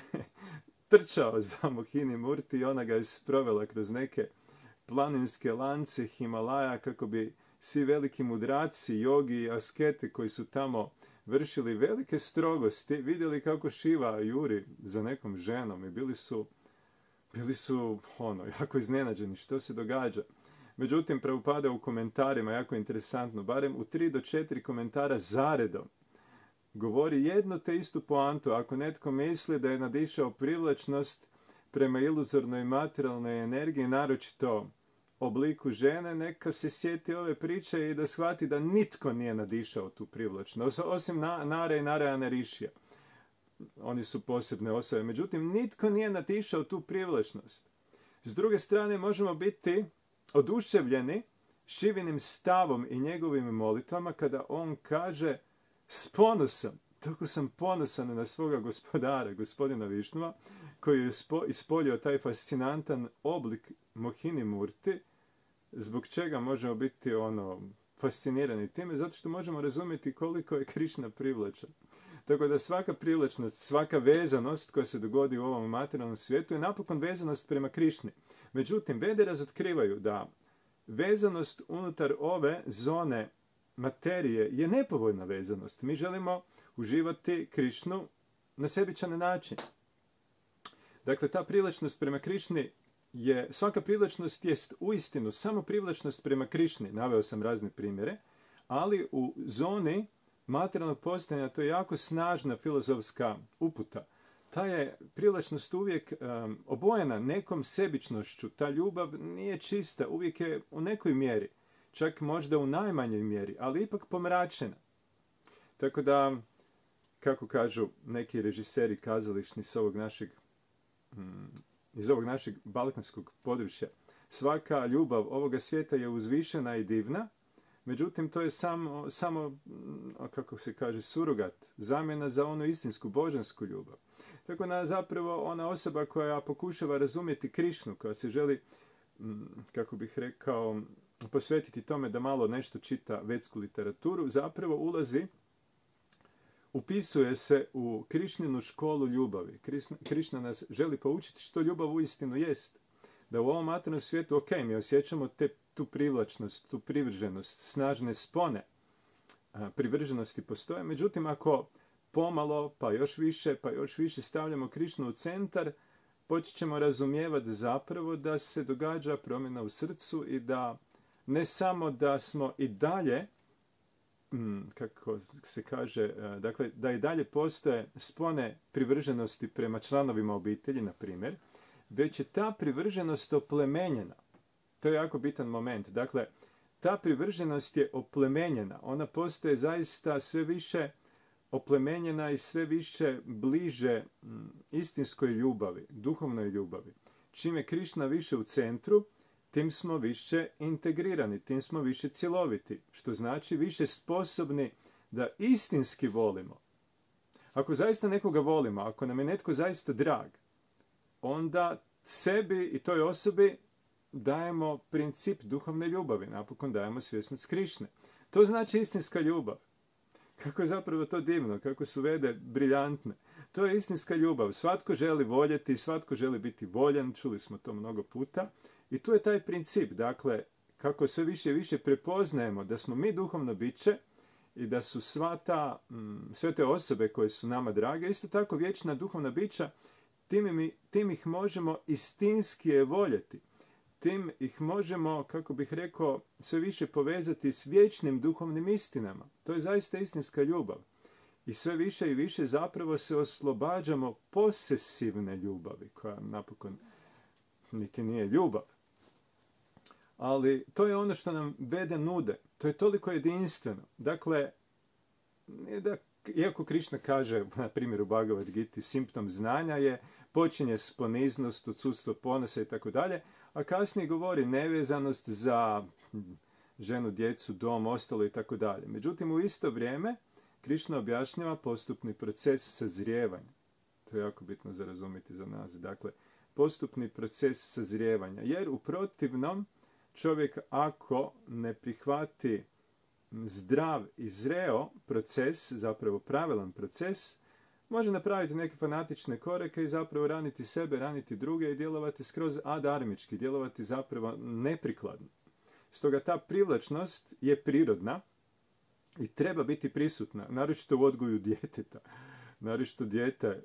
trčao za Mohini Murti i ona ga je sprovela kroz neke planinske lance Himalaja kako bi svi veliki mudraci, jogi i askete koji su tamo vršili velike strogosti vidjeli kako Šiva juri za nekom ženom i bili su, bili su ono, jako iznenađeni što se događa. Međutim, Prabhupada u komentarima, jako interesantno, barem u tri do četiri komentara zaredom, govori jednu te istu poantu. Ako netko misli da je nadišao privlačnost prema iluzornoj materijalnoj energiji, naročito obliku žene, neka se sjeti ove priče i da shvati da nitko nije nadišao tu privlačnost, osim Nara i Narayana Rishija. Oni su posebne osobe. Međutim, nitko nije nadišao tu privlačnost. S druge strane, možemo biti oduševljeni Šivinim stavom i njegovim molitvama kada on kaže: s ponosom, tako sam ponosan na svoga gospodara, gospodina Višnua, koji je ispolio taj fascinantan oblik Mohini Murti, zbog čega možemo biti ono fascinirani time, zato što možemo razumjeti koliko je Krišna privlačan. Tako da svaka privlačnost, svaka vezanost koja se dogodi u ovom materijalnom svijetu je napokon vezanost prema Krišni. Međutim, Vede razotkrivaju da vezanost unutar ove zone materije je nepovoljna vezanost. Mi želimo uživati Krišnu na sebičan način. Dakle, ta privlačnost prema Krišni je, svaka privlačnost jest uistinu samo privlačnost prema Krišni. Naveo sam razne primjere, ali u zoni materijalnog postojanja to je jako snažna filozofska uputa. Ta je privlačnost uvijek um, obojena nekom sebičnošću. Ta ljubav nije čista, uvijek je u nekoj mjeri, čak možda u najmanjoj mjeri, ali ipak pomračena. Tako da, kako kažu neki režiseri kazališni s ovog našeg, um, iz ovog našeg balkanskog područja, svaka ljubav ovoga svijeta je uzvišena i divna, međutim, to je samo, samo, kako se kaže, surogat, zamjena za onu istinsku božansku ljubav. Tako da zapravo ona osoba koja pokušava razumjeti Krišnu, koja se želi, kako bih rekao, posvetiti tome da malo nešto čita vedsku literaturu, zapravo ulazi, upisuje se u Krišninu školu ljubavi. Krišna nas želi poučiti što ljubav uistinu jest. Da u ovom materijalnom svijetu, ok, mi osjećamo te, tu privlačnost, tu privrženost, snažne spone a, privrženosti postoje. Međutim, ako pomalo, pa još više, pa još više stavljamo Krišnu u centar, počet ćemo razumijevati zapravo da se događa promjena u srcu i da ne samo da smo i dalje, kako se kaže, dakle, da i dalje postoje spone privrženosti prema članovima obitelji, na primjer, već je ta privrženost oplemenjena. To je jako bitan moment. Dakle, ta privrženost je oplemenjena. Ona postaje zaista sve više oplemenjena i sve više bliže istinskoj ljubavi, duhovnoj ljubavi. Čim je Krišna više u centru, tim smo više integrirani, tim smo više cjeloviti, što znači više sposobni da istinski volimo. Ako zaista nekoga volimo, ako nam je netko zaista drag, onda sebi i toj osobi dajemo princip duhovne ljubavi, napokon dajemo svjesnost Krišne. To znači istinska ljubav. Kako je zapravo to divno, kako su Vede briljantne. To je istinska ljubav. Svatko želi voljeti, svatko želi biti voljen, čuli smo to mnogo puta. I tu je taj princip, dakle, kako sve više i više prepoznajemo da smo mi duhovno biće i da su sva ta, sve te osobe koje su nama drage, isto tako vječna duhovna bića, tim, mi, tim ih možemo istinski voljeti. Tim ih možemo, kako bih rekao, sve više povezati s vječnim duhovnim istinama. To je zaista istinska ljubav. I sve više i više zapravo se oslobađamo posesivne ljubavi, koja napokon niti nije ljubav. Ali to je ono što nam Vede nude. To je toliko jedinstveno. Dakle, da, iako Krišna kaže, na primjer u Bhagavad Giti, simptom znanja je počinje s poniznost, odsudstvo ponosa i tako dalje, a kasnije govori nevezanost za ženu, djecu, dom, ostalo i tako dalje. Međutim, u isto vrijeme Krišna objašnjava postupni proces sazrijevanja. To je jako bitno za razumjeti za nas. Dakle, postupni proces sazrijevanja. Jer u protivnom čovjek ako ne prihvati zdrav i zreo proces, zapravo pravilan proces, može napraviti neke fanatične korake i zapravo raniti sebe, raniti druge i djelovati skroz adarmički, djelovati zapravo neprikladno. Stoga ta privlačnost je prirodna i treba biti prisutna, naročito u odgoju djeteta. Naročito dijete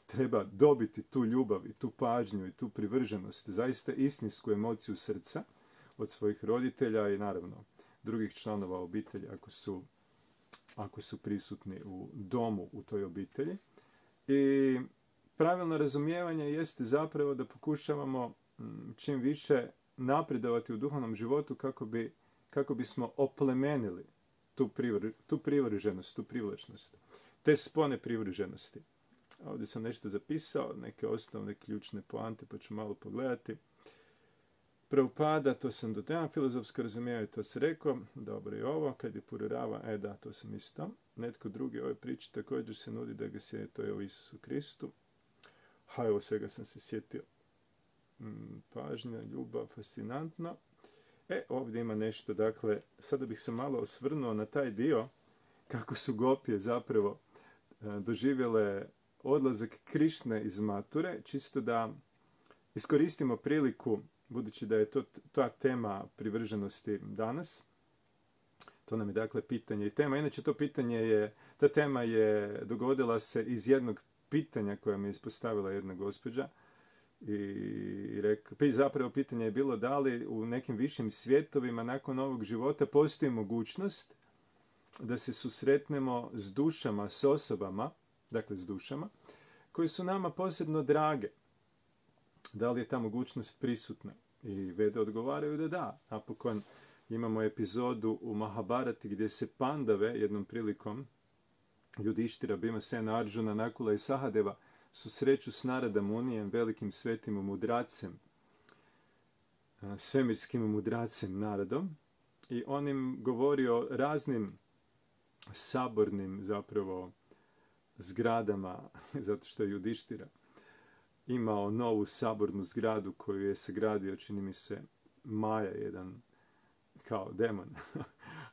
treba dobiti tu ljubav i tu pažnju i tu privrženost, zaista istinsku emociju srca od svojih roditelja i naravno drugih članova obitelji ako su, ako su prisutni u domu u toj obitelji. I pravilno razumijevanje jeste zapravo da pokušavamo čim više napredovati u duhovnom životu kako, bi, kako bismo oplemenili tu, privr, tu privrženost, tu privlačnost, te spone privrženosti. Ovdje sam nešto zapisao, neke osnovne ključne poante, pa ću malo pogledati. Prabhupada, to sam do tema filozofsko razumijevanje, to se rekao. Dobro je ovo, kad je Pururava, e da, to sam isto. Netko drugi ove priče također se nudi da ga sjeti, to je o Isusu Kristu. Ha, evo svega sam se sjetio. Hmm, pažnja, ljubav, fascinantno. E, ovdje ima nešto, dakle, sada bih se malo osvrnuo na taj dio kako su gopije zapravo doživjele odlazak Krišne iz Mature, čisto da iskoristimo priliku, budući da je to ta tema privrženosti danas. To nam je dakle pitanje i tema. Inače to pitanje je, ta tema je dogodila se iz jednog pitanja koje mi je ispostavila jedna gospođa. I rekla, zapravo pitanje je bilo da li u nekim višim svjetovima nakon ovog života postoji mogućnost da se susretnemo s dušama, s osobama, dakle s dušama, koje su nama posebno drage. Da li je ta mogućnost prisutna? I Vede odgovaraju da da. Napokon imamo epizodu u Mahabharati gdje se Pandave jednom prilikom Judištira, Bhimasena, Arjuna, Nakula i Sahadeva susreću s Narada Munijem, velikim svetim mudracem, svemirskim mudracem Naradom, i on im govori o raznim sabornim zapravo zgradama, zato što je Judištira imao novu sabornu zgradu koju je sagradio, čini mi se, Maja, jedan kao demon.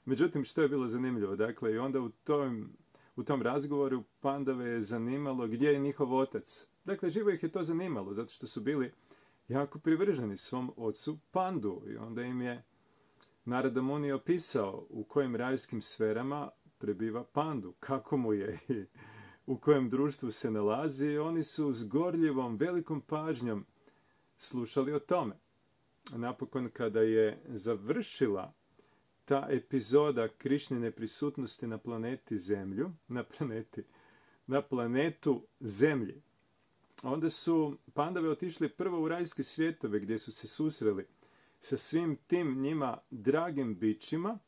Međutim, što je bilo zanimljivo? Dakle, i onda u tom, u tom razgovoru Pandave je zanimalo gdje je njihov otac. Dakle, živo ih je to zanimalo, zato što su bili jako privrženi svom ocu Pandu. I onda im je Narada Muni opisao u kojim rajskim sferama prebiva Pandu, kako mu je i u kojem društvu se nalazi. I oni su s gorljivom, velikom pažnjom slušali o tome. Napokon, kada je završila ta epizoda Krišnine prisutnosti na planeti Zemlju, na planeti, na planetu Zemlji, onda su Pandave otišli prvo u rajske svjetove gdje su se susreli sa svim tim njima dragim bićima.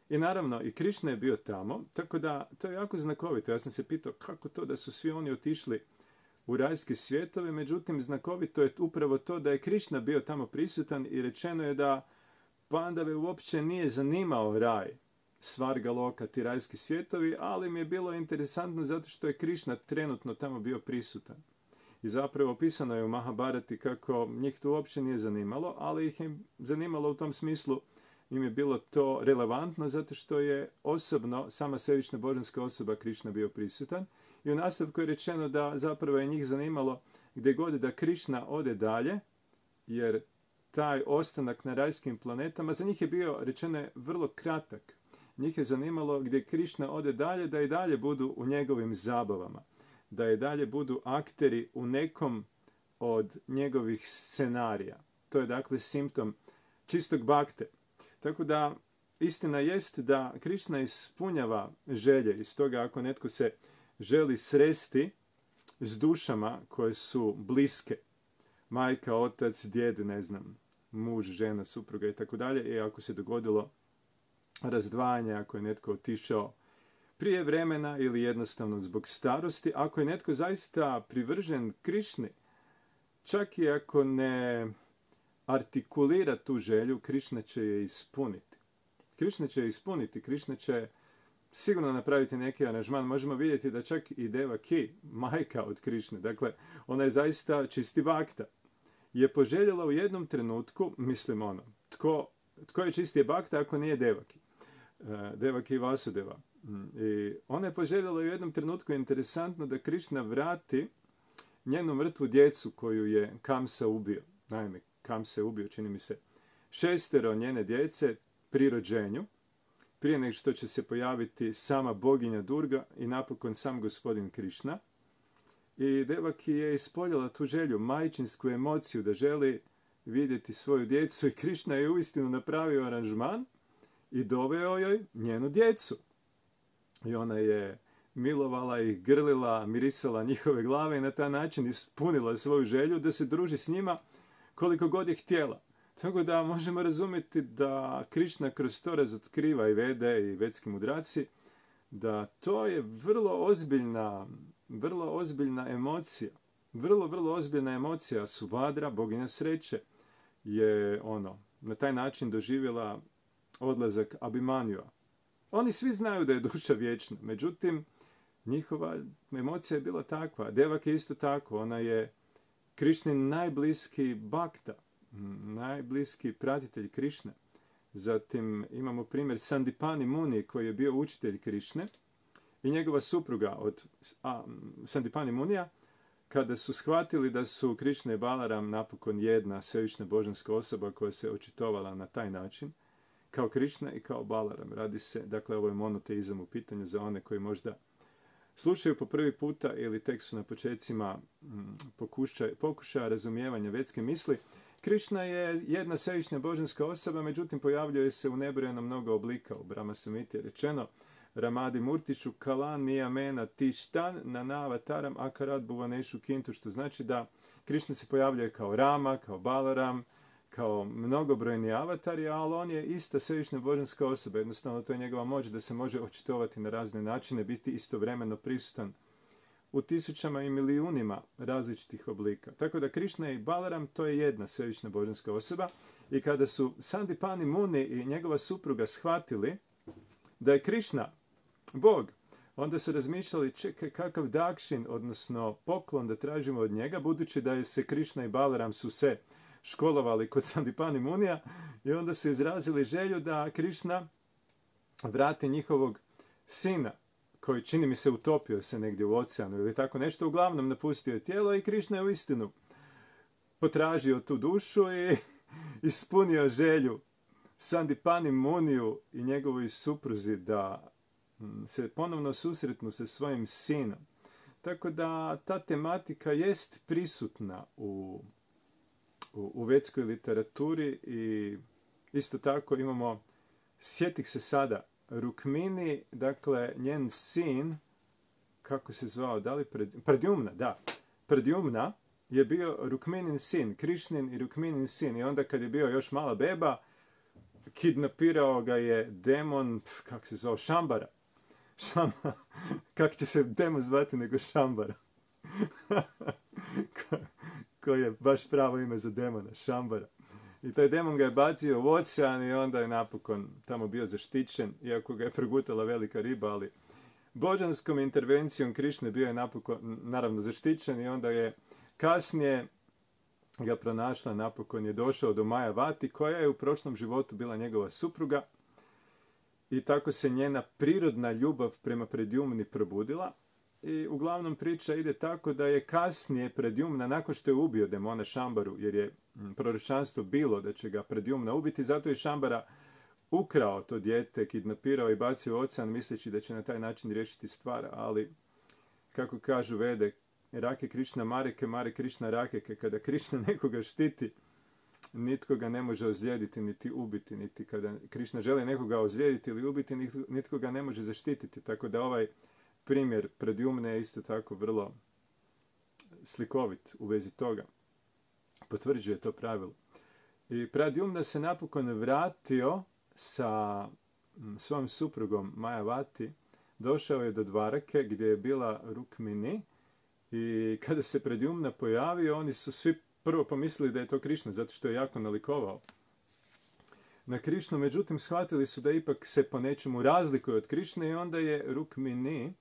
I naravno, i Krišna je bio tamo, tako da to je jako znakovito. Ja sam se pitao kako to da su svi oni otišli u rajske svjetove, međutim, znakovito je upravo to da je Krišna bio tamo prisutan i rečeno je da Pandave uopće nije zanimao raj, Svarga Loka, ti rajski svjetovi, ali mi je bilo interesantno zato što je Krišna trenutno tamo bio prisutan. I zapravo opisano je u Mahabharati kako njih to uopće nije zanimalo, ali ih je zanimalo u tom smislu, im je bilo to relevantno zato što je osobno, sama svevišnja božanska osoba Krišna bio prisutan. I u nastavku je rečeno da zapravo je njih zanimalo gdje god da Krišna ode dalje, jer taj ostanak na rajskim planetama za njih je bio, rečeno je, vrlo kratak. Njih je zanimalo gdje Krišna ode dalje, da i dalje budu u njegovim zabavama, da i dalje budu akteri u nekom od njegovih scenarija. To je dakle simptom čistog bakte. Tako da istina jest da Krišna ispunjava želje, i stoga ako netko se želi sresti s dušama koje su bliske, majka, otac, djed, ne znam, muž, žena, supruga i tako dalje, i ako se dogodilo razdvajanje, ako je netko otišao prije vremena ili jednostavno zbog starosti, ako je netko zaista privržen Krišni, čak i ako ne artikulira tu želju, Krišna će je ispuniti. Krišna će je ispuniti, Krišna će sigurno napraviti neki aranžman. Možemo vidjeti da čak i Devaki, majka od Krišne, dakle, ona je zaista čisti bakta, je poželjela u jednom trenutku, mislim ono, tko, tko je čistije bakta ako nije Devaki? Devaki i Vasudeva. I ona je poželjela u jednom trenutku, interesantno, da Krišna vrati njenu mrtvu djecu koju je Kamsa ubio. Naime, Kamsa je ubio, čini mi se, šestero njene djece pri rođenju, prije nego što će se pojaviti sama boginja Durga i napokon sam gospodin Krišna. I Devaki je ispoljala tu želju, majčinsku emociju da želi vidjeti svoju djecu, i Krišna je uistinu napravio aranžman i doveo joj njenu djecu. I ona je milovala ih, grlila, mirisala njihove glave i na taj način ispunila svoju želju da se druži s njima koliko god je htjela. Tako da možemo razumjeti da Krišna kroz to razotkriva i Vede i vedski mudraci, da to je vrlo ozbiljna, vrlo ozbiljna emocija. Vrlo, vrlo ozbiljna emocija. Subhadra, boginja sreće, je ono, na taj način doživjela odlazak Abhimanjua. Oni svi znaju da je duša vječna, međutim, njihova emocija je bila takva. Devaki je isto tako, ona je Krišnin najbliski bakta, najbliski pratitelj Krišne. Zatim imamo primjer Sandipani Muni koji je bio učitelj Krišne i njegova supruga od a, Sandipani Munija, kada su shvatili da su Krišna i Balaram napokon jedna svevišnja božanska osoba koja se očitovala na taj način, kao Krišna i kao Balaram. Radi se, dakle, ovo je monoteizam u pitanju za one koji možda slušaju po prvi puta ili tek su na počecima pokušaja, pokušaja razumijevanja vedske misli. Krišna je jedna svevišnja božanska osoba, međutim pojavljuje se u nebrojeno mnogo oblika. U Brahma Samhiti je rečeno Ramadi Murtišu Kalan Niyamena Tishtan Nanavataram Akarat Bhuvaneshu Kintu, što znači da Krišna se pojavljuje kao Rama, kao Balaram, kao mnogobrojni avatari, ali on je ista svevišnja božanska osoba. Jednostavno, to je njegova moć da se može očitovati na razne načine, biti istovremeno prisutan u tisućama i milijunima različitih oblika. Tako da Krišna i Balaram, to je jedna svevišnja božanska osoba. I kada su Sandipani Muni i njegova supruga shvatili da je Krišna Bog, onda su razmišljali, čekaj, kakav dakšin, odnosno poklon da tražimo od njega, budući da je se Krišna i Balaram su se školovali kod Sandipani Munija, i onda su izrazili želju da Krišna vrati njihovog sina, koji, čini mi se, utopio se negdje u oceanu ili tako nešto, uglavnom napustio je tijelo, i Krišna je uistinu potražio tu dušu i ispunio želju Sandipani Muniju i njegovoj supruzi da se ponovno susretnu sa svojim sinom. Tako da ta tematika jest prisutna u, u, u vedskoj literaturi, i isto tako imamo, sjetih se sada, Rukmini, dakle njen sin, kako se zvao, da li pred, Pradyumna, da, Pradyumna je bio Rukminin sin, Krišnin i Rukminin sin, i onda kad je bio još mala beba, kidnapirao ga je demon, pf, kako se zvao, Šambara. Šambara. Kako će se demon zvati nego Šambara? Ko, koji je baš pravo ime za demona, Šambara. I taj demon ga je bacio u ocean i onda je napokon tamo bio zaštićen, iako ga je progutala velika riba, ali božanskom intervencijom Krišne bio je napokon, naravno, zaštićen, i onda je kasnije ga pronašla, napokon je došao do Majavati, koja je u prošlom životu bila njegova supruga, i tako se njena prirodna ljubav prema Pradyumni probudila. I uglavnom priča ide tako da je kasnije Pradyumna, nakon što je ubio demona Šambaru, jer je proročanstvo bilo da će ga Pradyumna ubiti, zato je Šambara ukrao to dijete, kidnapirao i bacio u ocean, misleći da će na taj način riješiti stvar, ali, kako kažu Vede, Rake Krišna Mareke, Mare Krišna Rakeke, kada Krišna nekoga štiti, nitko ga ne može ozlijediti niti ubiti, niti kada Krišna želi nekoga ozlijediti ili ubiti, nitko ga ne može zaštititi. Tako da ovaj primjer Pradyumne je isto tako vrlo slikovit u vezi toga. Potvrđuje to pravilo. I Pradyumna se napokon vratio sa svojom suprugom Majavati, došao je do Dvarake gdje je bila Rukmini, i kada se Pradyumna pojavio, oni su svi prvo pomislili da je to Krišna, zato što je jako nalikovao na Krišnu, međutim shvatili su da ipak se po nečemu razlikuje od Krišne, i onda je Rukmini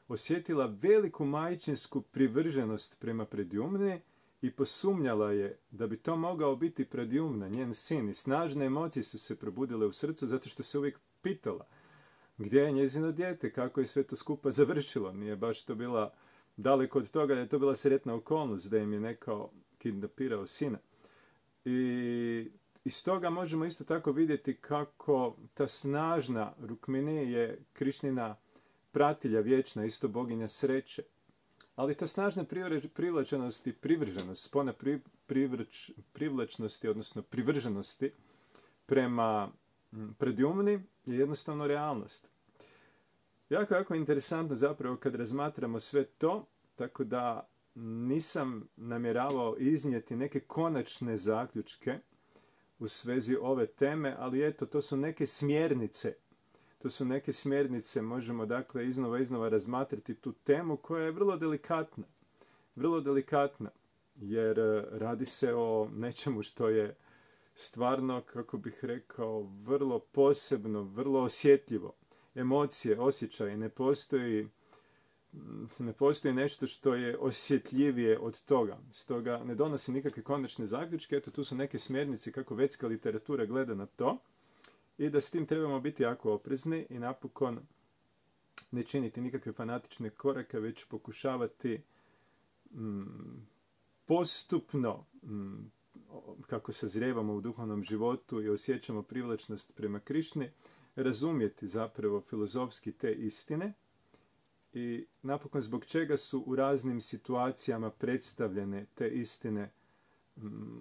osjetila veliku majčinsku privrženost prema Pradyumni i posumnjala je da bi to mogao biti Pradyumna, njen sin, i snažne emocije su se probudile u srcu, zato što se uvijek pitala gdje je njezino dijete, kako je sve to skupa završilo. Nije baš to bila daleko od toga da je to bila sretna okolnost da im je neko kidnapirao sina. I iz toga možemo isto tako vidjeti kako ta snažna Rukmini je Krišnina pratilja vječna, isto boginja sreće. Ali ta snažna privlačenost i privrženost, spona pri, privrč, privlačnosti, odnosno privrženosti prema Pradyumni je jednostavno realnost. Jako, jako interesantno zapravo kad razmatramo sve to, tako da nisam namjeravao iznijeti neke konačne zaključke u svezi ove teme, ali eto, to su neke smjernice. To su neke smjernice, možemo dakle iznova iznova razmatrati tu temu koja je vrlo delikatna. Vrlo delikatna, jer radi se o nečemu što je stvarno, kako bih rekao, vrlo posebno, vrlo osjetljivo. Emocije, osjećaje, ne postoji, ne postoji nešto što je osjetljivije od toga. Stoga ne donosim nikakve konačne zaključke, eto tu su neke smjernice kako vedska literatura gleda na to i da s tim trebamo biti jako oprezni i napokon ne činiti nikakve fanatične korake, već pokušavati mm, postupno, mm, kako sazrijevamo u duhovnom životu i osjećamo privlačnost prema Krišni, razumjeti zapravo filozofski te istine i napokon zbog čega su u raznim situacijama predstavljene te istine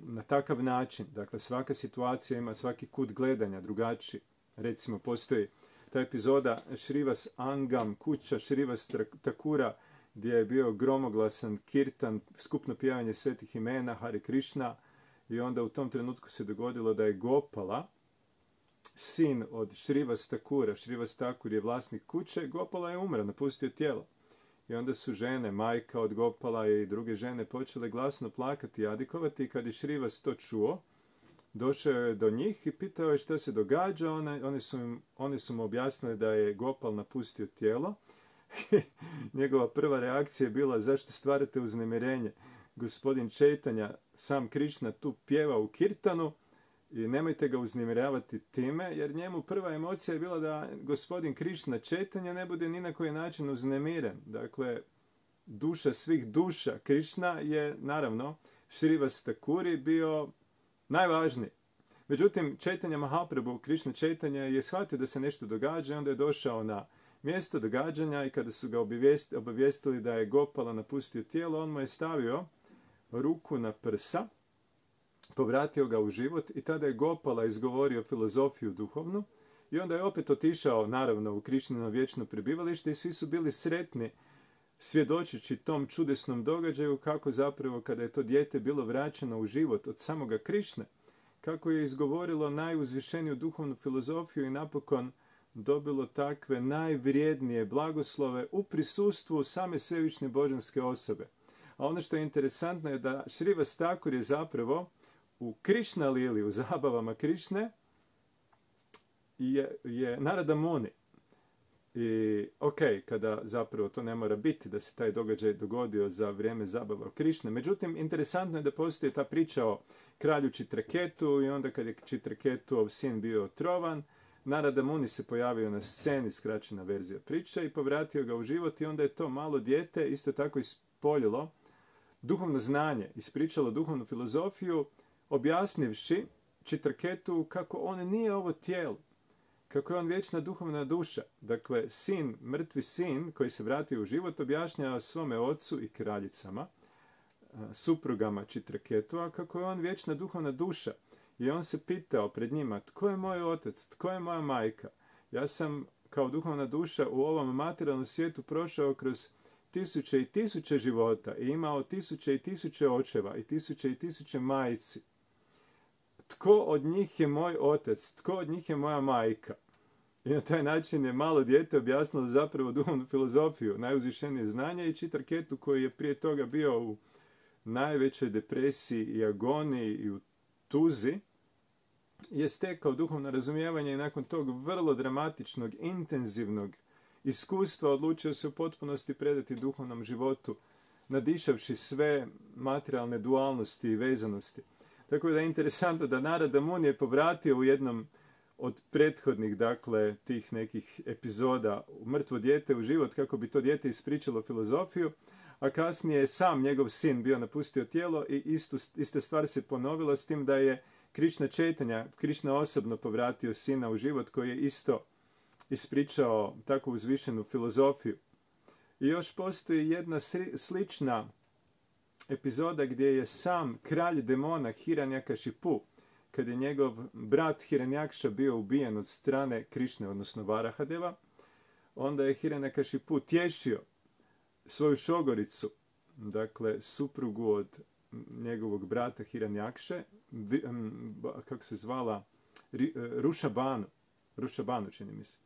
na takav način. Dakle, svaka situacija ima svaki kut gledanja drugačiji. Recimo, postoji ta epizoda Šrivas Angam, kuća Šrivas Thakura, gdje je bio gromoglasan kirtan, skupno pjevanje svetih imena, Hare Krishna, i onda u tom trenutku se dogodilo da je Gopala, sin od Šrivas Thakura, Šrivas Thakur je vlasnik kuće, Gopala je umro, napustio tijelo. I onda su žene, majka od Gopala i druge žene, počele glasno plakati i jadikovati, i kad je Šrivas to čuo, došao je do njih i pitao je što se događa. One, one, su, im, one su mu objasnile da je Gopal napustio tijelo. Njegova prva reakcija je bila: zašto stvarate uznemirenje? Gospodin Čejtanja, sam Krišna, tu pjeva u kirtanu i nemojte ga uznemiravati time, jer njemu prva emocija je bila da gospodin Krišna Čejtanja ne bude ni na koji način uznemiren. Dakle, duša svih duša Krišna je, naravno, Šrivas Thakuri bio najvažniji. Međutim, Čejtanja Mahaprabhu, Krišna Čejtanja, je shvatio da se nešto događa i onda je došao na mjesto događanja i kada su ga obavijestili da je Gopala napustio tijelo, on mu je stavio ruku na prsa, povratio ga u život i tada je Gopala izgovorio filozofiju duhovnu i onda je opet otišao, naravno, u Krišnino vječno prebivalište i svi su bili sretni svjedočeći tom čudesnom događaju, kako zapravo kada je to dijete bilo vraćeno u život od samoga Krišne, kako je izgovorilo najuzvišeniju duhovnu filozofiju i napokon dobilo takve najvrijednije blagoslove u prisustvu same svevišnje božanske osobe. A ono što je interesantno je da Šrivas Thakur je zapravo u Krišna lili, u zabavama Krišne, je, je Narada Muni. I ok, kada zapravo to ne mora biti, da se taj događaj dogodio za vrijeme zabava Krišne. Međutim, interesantno je da postoji ta priča o kralju Čitraketu i onda kad je Čitraketov sin bio otrovan, Narada Muni se pojavio na sceni, skraćena verzija priče, i povratio ga u život i onda je to malo dijete isto tako ispoljilo duhovno znanje, ispričalo duhovnu filozofiju, objasnivši Čitraketu kako on nije ovo tijelo, kako je on vječna duhovna duša. Dakle, sin, mrtvi sin koji se vratio u život, objašnjava svome ocu i kraljicama, suprugama Čitraketua, kako je on vječna duhovna duša. I on se pitao pred njima: tko je moj otac, tko je moja majka? Ja sam kao duhovna duša u ovom materijalnom svijetu prošao kroz tisuće i tisuće života i imao tisuće i tisuće očeva i tisuće i tisuće majci. Tko od njih je moj otac, tko od njih je moja majka? I na taj način je malo dijete objasnilo zapravo duhovnu filozofiju, najuzvišenije znanje, i Čitraketu, koji je prije toga bio u najvećoj depresiji i agoniji i u tuzi, je stekao duhovno razumijevanje i nakon tog vrlo dramatičnog, intenzivnog iskustva odlučio se u potpunosti predati duhovnom životu, nadišavši sve materijalne dualnosti i vezanosti. Tako da je interesantno da Narada Muni je povratio u jednom od prethodnih, dakle, tih nekih epizoda mrtvo dijete u život, kako bi to dijete ispričalo filozofiju, a kasnije je sam njegov sin bio napustio tijelo i istu, ista stvar se ponovila, s tim da je Krišna Čejtanja, Krišna osobno povratio sina u život, koji je isto ispričao takvu uzvišenu filozofiju. I još postoji jedna slična epizoda gdje je sam kralj demona Hiranjakashipu, kad je njegov brat Hiranjakša bio ubijen od strane Krišne, odnosno Varahadeva, onda je Hiranjakashipu tješio svoju šogoricu, dakle suprugu od njegovog brata Hiranjakše, kako se zvala, Rušabanu, Rušabanu čini mi se.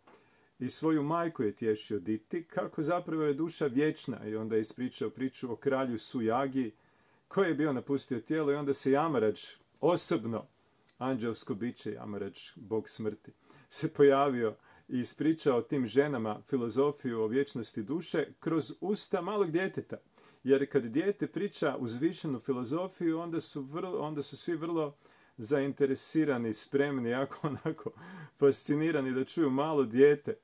I svoju majku je tješio Diti, kako zapravo je duša vječna, i onda je ispričao priču o kralju Sujagi, koji je bio napustio tijelo, i onda se Jamarač, osobno anđelsko biće Jamarač, bog smrti, se pojavio i ispričao tim ženama filozofiju o vječnosti duše kroz usta malog djeteta. Jer kad dijete priča uzvišenu filozofiju, onda su, vrlo, onda su svi vrlo zainteresirani, spremni, jako onako fascinirani da čuju malo dijete.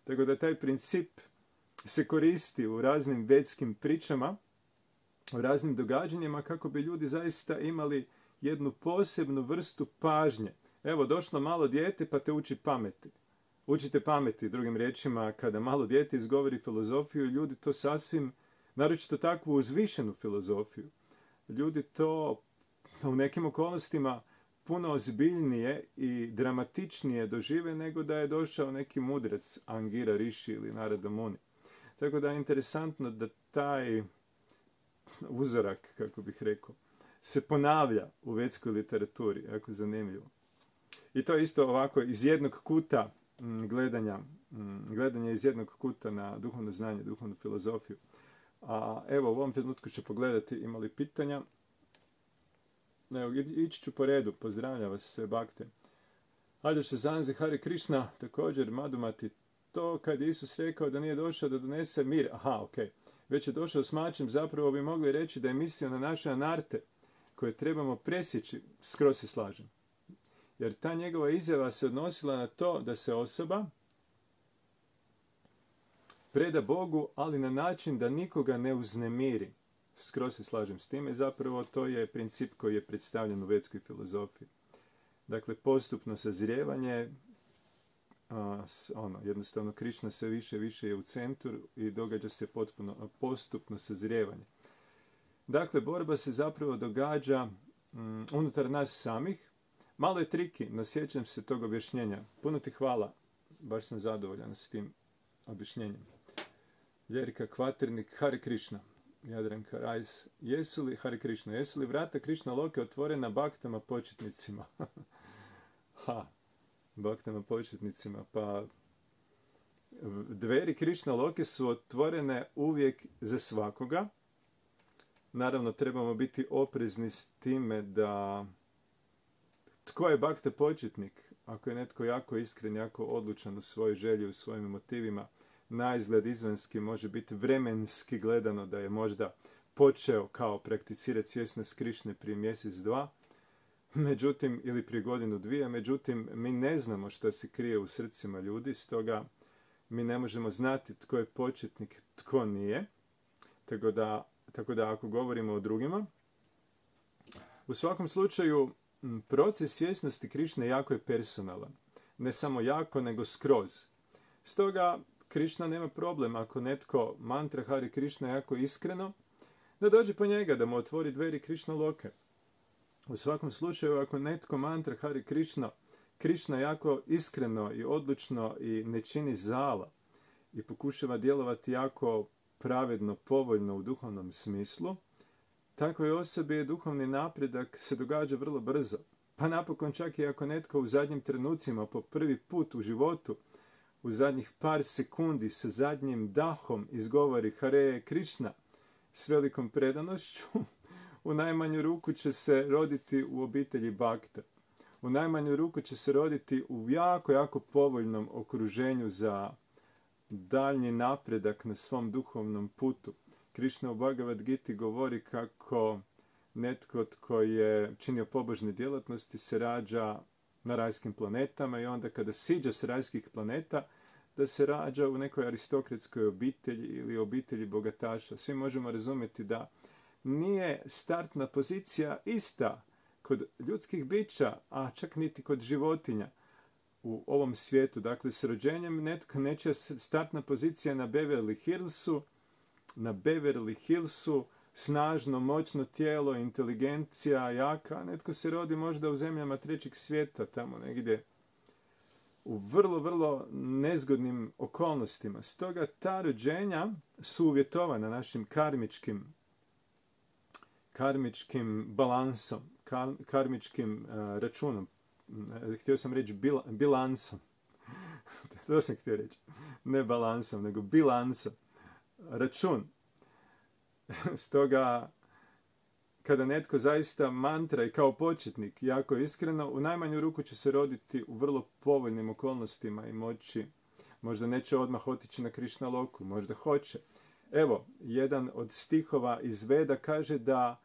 Tako da taj princip se koristi u raznim vetskim pričama, u raznim događanjima kako bi ljudi zaista imali jednu posebnu vrstu pažnje. Evo, došlo malo dijete pa te uči pameti. Učite pameti, drugim riječima, kada malo dijete izgovori filozofiju, ljudi to sasvim, naročito takvu uzvišenu filozofiju, ljudi to u nekim okolnostima puno ozbiljnije i dramatičnije dožive nego da je došao neki mudrac, Angira Rishi ili Narada Muni. Tako da je interesantno da taj uzorak, kako bih rekao, se ponavlja u vetskoj literaturi, jako zanimljivo. I to je isto ovako iz jednog kuta gledanja, gledanja iz jednog kuta na duhovno znanje, duhovnu filozofiju. A evo, u ovom trenutku ću pogledati ima li pitanja. Evo, ići ću po redu, pozdravljam vas sve bakte. Aljoš se zanze, Hare Krishna, također Madhumati, to kad je Isus rekao da nije došao da donese mir, aha, ok, već je došao s mačem, zapravo bi mogli reći da je mislio na naše anarte, koje trebamo presjeći, skroz se slažem. Jer ta njegova izjava se odnosila na to da se osoba preda Bogu, ali na način da nikoga ne uznemiri. Skroz se slažem s time, zapravo to je princip koji je predstavljen u vetskoj filozofiji. Dakle, postupno sazrijevanje, a, ono, jednostavno Krišna sve više i više je u centru i događa se potpuno postupno sazrijevanje. Dakle, borba se zapravo događa mm, unutar nas samih. Malo je triki, no sjećam se tog objašnjenja. Puno ti hvala, baš sam zadovoljan s tim objašnjenjem. Ljerika Kvaternik, Hare Krishna. Jadranka Rajs, jesu li, Hare Krishna, jesu li vrata Krišna Loke otvorena baktama početnicima? ha, baktama početnicima, pa dveri Krišna Loke su otvorene uvijek za svakoga. Naravno, trebamo biti oprezni s time da tko je bakta početnik? Ako je netko jako iskren, jako odlučan u svojoj želji, u svojim motivima, na izgled izvanski može biti vremenski gledano da je možda počeo kao prakticirati svjesnost Krišne prije mjesec, dva, međutim, ili prije godinu, dvije, međutim, mi ne znamo šta se krije u srcima ljudi, stoga mi ne možemo znati tko je početnik, tko nije, tako da, tako da ako govorimo o drugima, u svakom slučaju, proces svjesnosti Krišne jako je personalan. Ne samo jako, nego skroz. Stoga, Krišna nema problem ako netko mantra Hare Krishna jako iskreno, da dođe po njega, da mu otvori dveri Krišna Loke. U svakom slučaju, ako netko mantra Hare Krishna, Krišna jako iskreno i odlučno i ne čini zala i pokušava djelovati jako pravedno, povoljno u duhovnom smislu, takvoj osobi je duhovni napredak se događa vrlo brzo. Pa napokon čak i ako netko u zadnjim trenucima po prvi put u životu, u zadnjih par sekundi sa zadnjim dahom izgovori Hare Krishna s velikom predanošću, u najmanju ruku će se roditi u obitelji bakta. U najmanju ruku će se roditi u jako, jako povoljnom okruženju za daljnji napredak na svom duhovnom putu. Krišna u Bhagavad Giti govori kako netko tko je činio pobožne djelatnosti se rađa na rajskim planetama i onda kada siđe s rajskih planeta da se rađa u nekoj aristokratskoj obitelji ili obitelji bogataša. Svi možemo razumjeti da nije startna pozicija ista kod ljudskih bića, a čak niti kod životinja u ovom svijetu. Dakle, s rođenjem netko nečija startna pozicija na Beverly Hillsu, na Beverly Hillsu, snažno, moćno tijelo, inteligencija, jaka, netko se rodi možda u zemljama trećeg svijeta, tamo negdje u vrlo, vrlo nezgodnim okolnostima. Stoga ta rođenja su uvjetovana našim karmičkim, karmičkim balansom, kar, karmičkim uh, računom. Htio sam reći bil, bilansom. To sam htio reći. Ne balansom, nego bilansom. Račun. Stoga, kada netko zaista mantra i kao početnik, jako iskreno, u najmanju ruku će se roditi u vrlo povoljnim okolnostima i moći, možda neće odmah otići na Krišna Loku, možda hoće. Evo, jedan od stihova iz Veda kaže da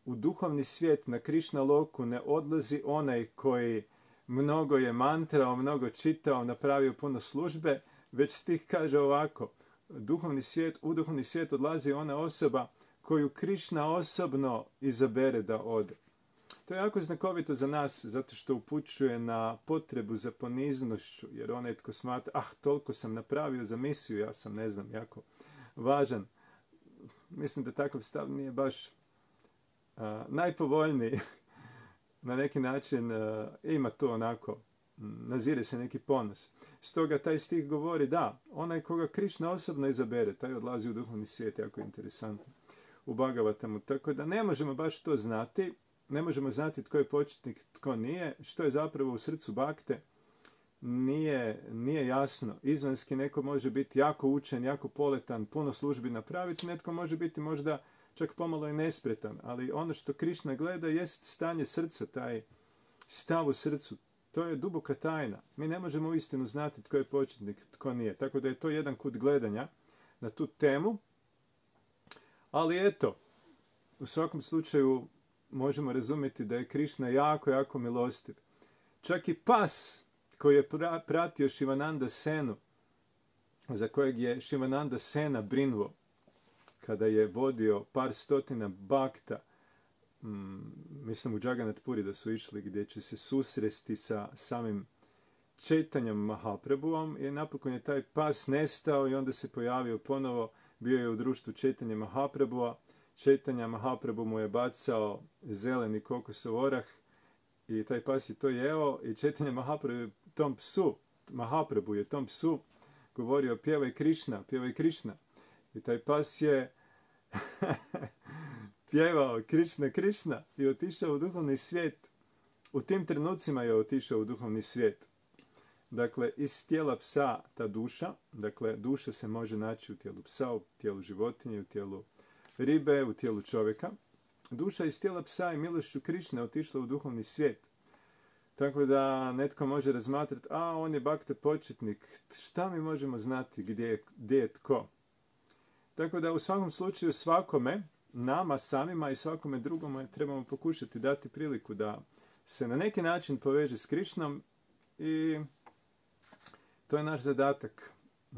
u duhovni svijet na Krišna Loku ne odlazi onaj koji mnogo je mantrao, mnogo čitao, napravio puno službe, već stih kaže ovako: duhovni svijet, u duhovni svijet odlazi ona osoba koju Krišna osobno izabere da ode. To je jako znakovito za nas, zato što upućuje na potrebu za poniznošću, jer onaj tko smatra, ah, toliko sam napravio za misiju, ja sam, ne znam, jako važan. Mislim da takav stav nije baš a, najpovoljniji. Na neki način a, ima to onako, nazire se neki ponos. Stoga taj stih govori, da, onaj koga Krišna osobno izabere, taj odlazi u duhovni svijet, jako interesantno. U Bhagavatamu. Tako da ne možemo baš to znati, ne možemo znati tko je početnik, tko nije, što je zapravo u srcu bakte, nije, nije jasno. Izvanski neko može biti jako učen, jako poletan, puno službi napraviti, netko može biti možda čak pomalo i nespretan, ali ono što Krišna gleda jest stanje srca, taj stav u srcu, to je duboka tajna. Mi ne možemo uistinu znati tko je početnik, tko nije. Tako da je to jedan kut gledanja na tu temu. Ali eto, u svakom slučaju možemo razumjeti da je Krišna jako, jako milostiv. Čak i pas koji je pratio Šivananda Senu, za kojeg je Šivananda Sena brinuo, kada je vodio par stotina bakta, mm, mislim u Jagannath Puri da su išli, gdje će se susresti sa samim Čaitanjom Mahaprabhuom, i napokon je taj pas nestao i onda se pojavio ponovo, bio je u društvu Čaitanja Mahaprabhua. Čaitanja Mahaprabhu mu je bacao zeleni kokosov orah i taj pas je to jeo, i Čaitanja Mahaprabhu je tom psu, Mahaprabhu je tom psu govorio, pjevaj Krišna, pjevaj Krišna. I taj pas je pjevao Krišna, Krišna i otišao u duhovni svijet. U tim trenucima je otišao u duhovni svijet. Dakle, iz tijela psa ta duša, dakle, duša se može naći u tijelu psa, u tijelu životinje, u tijelu ribe, u tijelu čovjeka. Duša iz tijela psa i milošću Krišne otišla u duhovni svijet. Tako da netko može razmatrati, a on je bakta početnik, šta mi možemo znati gdje je, gdje je tko? Tako da u svakom slučaju svakome, nama samima i svakome drugome trebamo pokušati dati priliku da se na neki način poveže s Krišnom, i to je naš zadatak.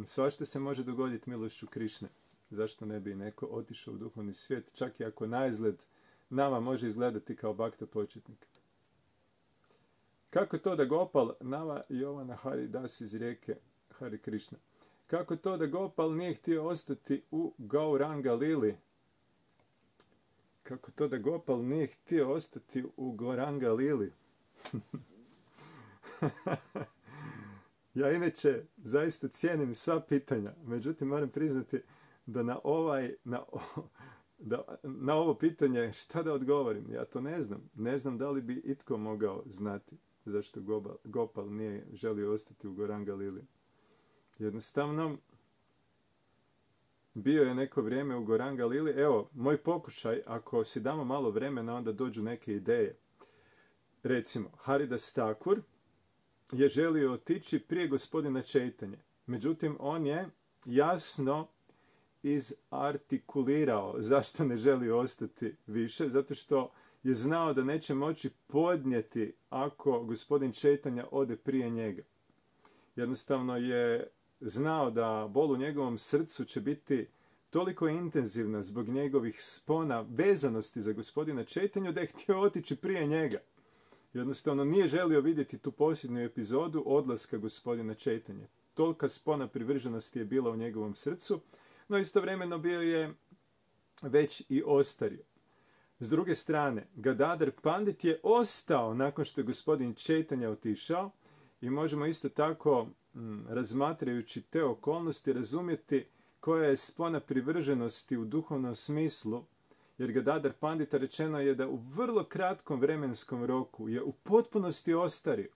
Svašta se može dogoditi milošću Krišne. Zašto ne bi neko otišao u duhovni svijet, čak i ako naizgled nama može izgledati kao bakta početnik. Kako to da Gopal, Nava Jovana Hari Das iz rijeke Hari Krišna, kako to da Gopal nije htio ostati u Gauranga Lili? Kako to da Gopal nije htio ostati u Gauranga Lili? Ja inače zaista cijenim sva pitanja, međutim moram priznati da na, ovaj, na, da, na ovo pitanje šta da odgovorim, ja to ne znam. Ne znam da li bi itko mogao znati zašto Gopal, Gopal nije želio ostati u Gauranga Lili. Jednostavno, bio je neko vrijeme u Gauranga Lili. Evo, moj pokušaj, ako si damo malo vremena, onda dođu neke ideje. Recimo, Haridas Thakur je želio otići prije gospodina Čaitanje. Međutim, on je jasno izartikulirao zašto ne želi ostati više, zato što je znao da neće moći podnijeti ako gospodin Čaitanja ode prije njega. Jednostavno je znao da bol u njegovom srcu će biti toliko intenzivna zbog njegovih spona vezanosti za gospodina Čaitanju da je htio otići prije njega. Jednostavno nije želio vidjeti tu posljednju epizodu odlaska gospodina Čaitanja. Tolika spona privrženosti je bila u njegovom srcu, no istovremeno bio je već i ostario. S druge strane, Gadadhar Pandit je ostao nakon što je gospodin Čaitanja otišao, i možemo isto tako, m, razmatrajući te okolnosti, razumjeti koja je spona privrženosti u duhovnom smislu, jer Gadadhar Pandita rečeno je da u vrlo kratkom vremenskom roku je u potpunosti ostario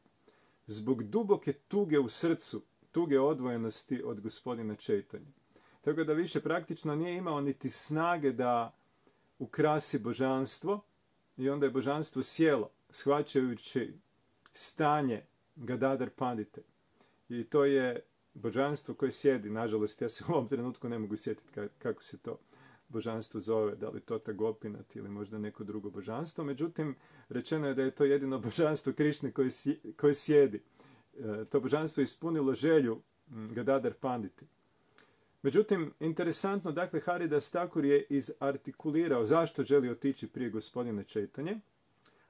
zbog duboke tuge u srcu, tuge odvojenosti od gospodina Čaitanja. Tako da više praktično nije imao niti snage da ukrasi božanstvo, i onda je božanstvo sjelo, shvaćajući stanje Gadadhar Pandite. I to je božanstvo koje sjedi. Nažalost, ja se u ovom trenutku ne mogu sjetiti kako se to božanstvo zove, da li Tota Gopinath ili možda neko drugo božanstvo. Međutim, rečeno je da je to jedino božanstvo Krišne koje, koje sjedi. To božanstvo je ispunilo želju Gadadhar Panditi. Međutim, interesantno, dakle, Haridas Thakur je izartikulirao zašto želi otići prije gospodina Čaitanje,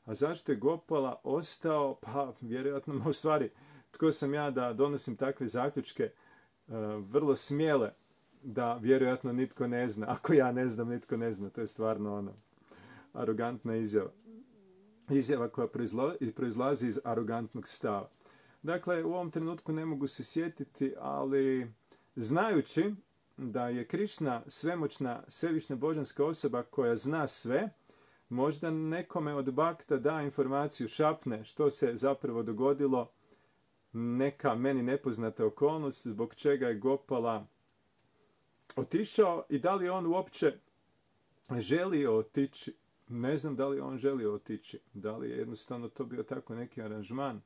a zašto je Gopala ostao, pa vjerojatno, u stvari, tko sam ja da donosim takve zaključke, uh, vrlo smjele, da vjerojatno nitko ne zna. Ako ja ne znam, nitko ne zna. To je stvarno ono, arogantna izjava. Izjava koja proizlazi iz arogantnog stava. Dakle, u ovom trenutku ne mogu se sjetiti, ali znajući da je Krišna svemoćna, svevišnja božanska osoba koja zna sve, možda nekome od bakta da informaciju, šapne što se zapravo dogodilo, neka meni nepoznata okolnost zbog čega je Gopala otišao i da li on uopće želio otići. Ne znam da li on želio otići. Da li je jednostavno to bio tako neki aranžman.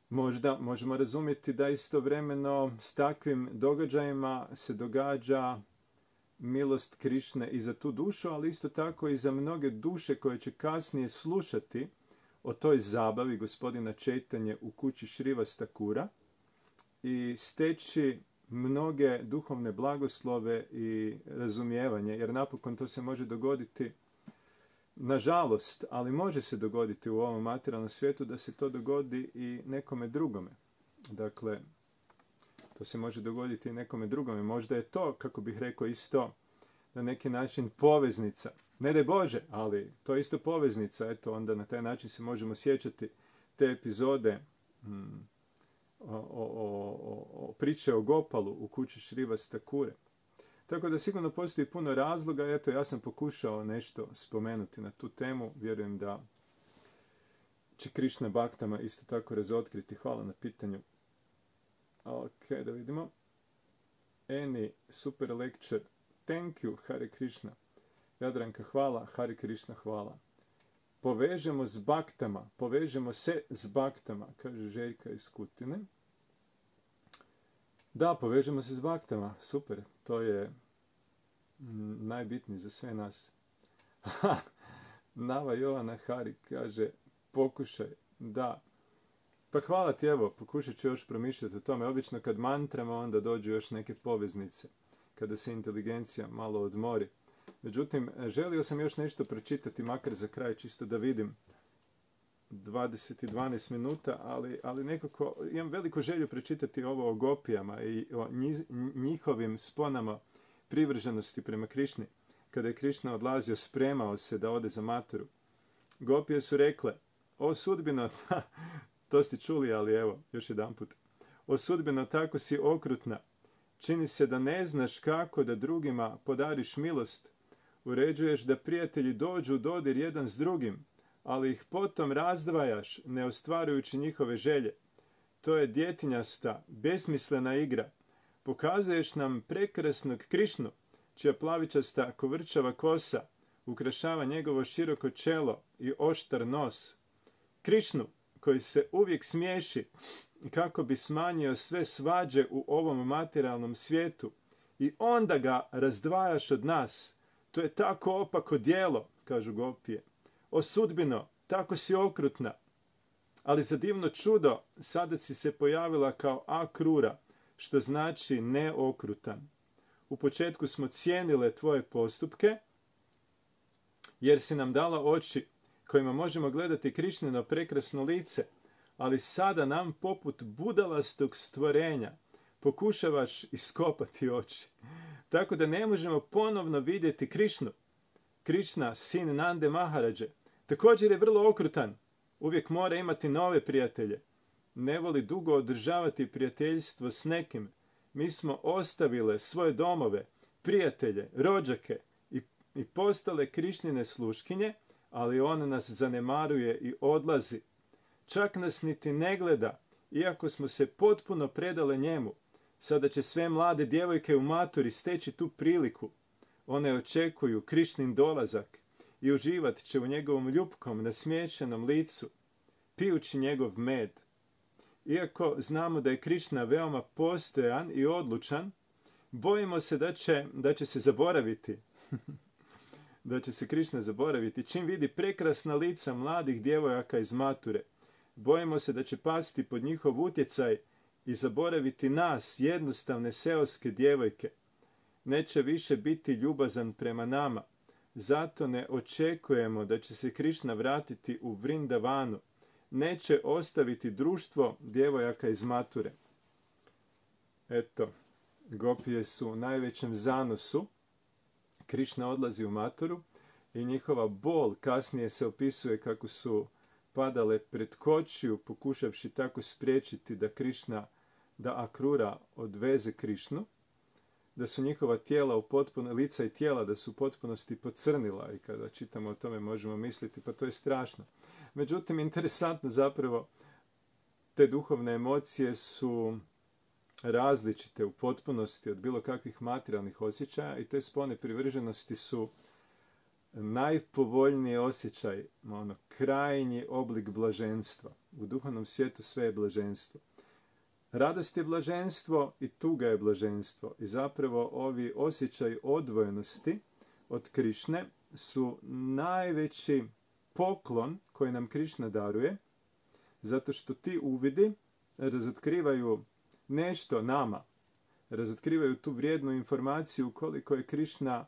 Možda možemo razumjeti da istovremeno s takvim događajima se događa milost Krišne i za tu dušu, ali isto tako i za mnoge duše koje će kasnije slušati o toj zabavi gospodina Čaitanje u kući Šrivas Thakura i steći mnoge duhovne blagoslove i razumijevanje, jer napokon to se može dogoditi, nažalost, ali može se dogoditi u ovom materijalnom svijetu da se to dogodi i nekome drugome. Dakle, to se može dogoditi i nekome drugome. Možda je to, kako bih rekao, isto na neki način poveznica. Ne daj Bože, ali to je isto poveznica. Eto, onda na taj način se možemo sjećati te epizode hmm, o, o, o, o priče o Gopalu u kući Šrivas Thakure. Tako da sigurno postoji puno razloga. Eto, ja sam pokušao nešto spomenuti na tu temu. Vjerujem da će Krišna baktama isto tako razotkriti. Hvala na pitanju. Ok, da vidimo. Any super lecture. Thank you, Hare Krishna. Jadranka, hvala. Hare Krishna, hvala. Povežemo s baktama. Povežemo se s baktama, kaže Željka iz Kutine. Da, povežemo se s baktama. Super. To je mm, najbitnije za sve nas. Nava Jovana Hari kaže, pokušaj. Da. Pa hvala ti, evo, pokušat ću još promišljati o tome. Obično kad mantramo, onda dođu još neke poveznice, kada se inteligencija malo odmori. Međutim, želio sam još nešto pročitati, makar za kraj, čisto da vidim dvadeset i dvanaest minuta, ali, ali nekako imam veliku želju pročitati ovo o gopijama i o njihovim sponama privrženosti prema Krišni. Kada je Krišna odlazio, spremao se da ode za maturu. Gopije su rekle, o sudbino, to ste čuli, ali evo, još jedan put. O sudbino, tako si okrutna. Čini se da ne znaš kako da drugima podariš milost. Uređuješ da prijatelji dođu u dodir jedan s drugim, ali ih potom razdvajaš, ne ostvarujući njihove želje. To je djetinjasta, besmislena igra. Pokazuješ nam prekrasnog Krišnu, čija plavičasta kovrčava kosa ukrašava njegovo široko čelo i oštar nos. Krišnu, koji se uvijek smiješi kako bi smanjio sve svađe u ovom materijalnom svijetu i onda ga razdvajaš od nas. To je tako opako djelo, kažu gopije. O sudbino, tako si okrutna. Ali za divno čudo, sada si se pojavila kao akrura, što znači neokrutan. U početku smo cijenile tvoje postupke, jer si nam dala oči kojima možemo gledati Krišnino prekrasno lice, ali sada nam poput budalastog stvorenja pokušavaš iskopati oči. Tako da ne možemo ponovno vidjeti Krišnu. Krišna, sin Nande Maharadže, također je vrlo okrutan. Uvijek mora imati nove prijatelje. Ne voli dugo održavati prijateljstvo s nekim. Mi smo ostavile svoje domove, prijatelje, rođake i, i postale Krišnine sluškinje, ali on nas zanemaruje i odlazi. Čak nas niti ne gleda, iako smo se potpuno predale njemu. Sada će sve mlade djevojke u maturi steći tu priliku. One očekuju Krišnin dolazak i uživat će u njegovom ljupkom, nasmiješenom licu, pijući njegov med. Iako znamo da je Krišna veoma postojan i odlučan, bojimo se da će, da će se zaboraviti. da će se Krišna zaboraviti čim vidi prekrasna lica mladih djevojaka iz mature. Bojimo se da će pasti pod njihov utjecaj i zaboraviti nas, jednostavne seoske djevojke. Neće više biti ljubazan prema nama. Zato ne očekujemo da će se Krišna vratiti u Vrindavanu. Neće ostaviti društvo djevojaka iz Mature. Eto, gopije su u najvećem zanosu. Krišna odlazi u Maturu i njihova bol kasnije se opisuje kako su padale pred kočiju, pokušavši tako spriječiti da Krišna, da Akrura odveze Krišnu, da su njihova tijela u potpuno, lica i tijela da su u potpunosti pocrnila, i kada čitamo o tome možemo misliti pa to je strašno. Međutim, interesantno zapravo, te duhovne emocije su različite u potpunosti od bilo kakvih materijalnih osjećaja i te spone privrženosti su najpovoljniji osjećaj, ono, krajnji oblik blaženstva. U duhovnom svijetu sve je blaženstvo. Radost je blaženstvo i tuga je blaženstvo. I zapravo ovi osjećaj odvojenosti od Krišne su najveći poklon koji nam Krišna daruje, zato što ti uvidi razotkrivaju nešto nama, razotkrivaju tu vrijednu informaciju koliko je Krišna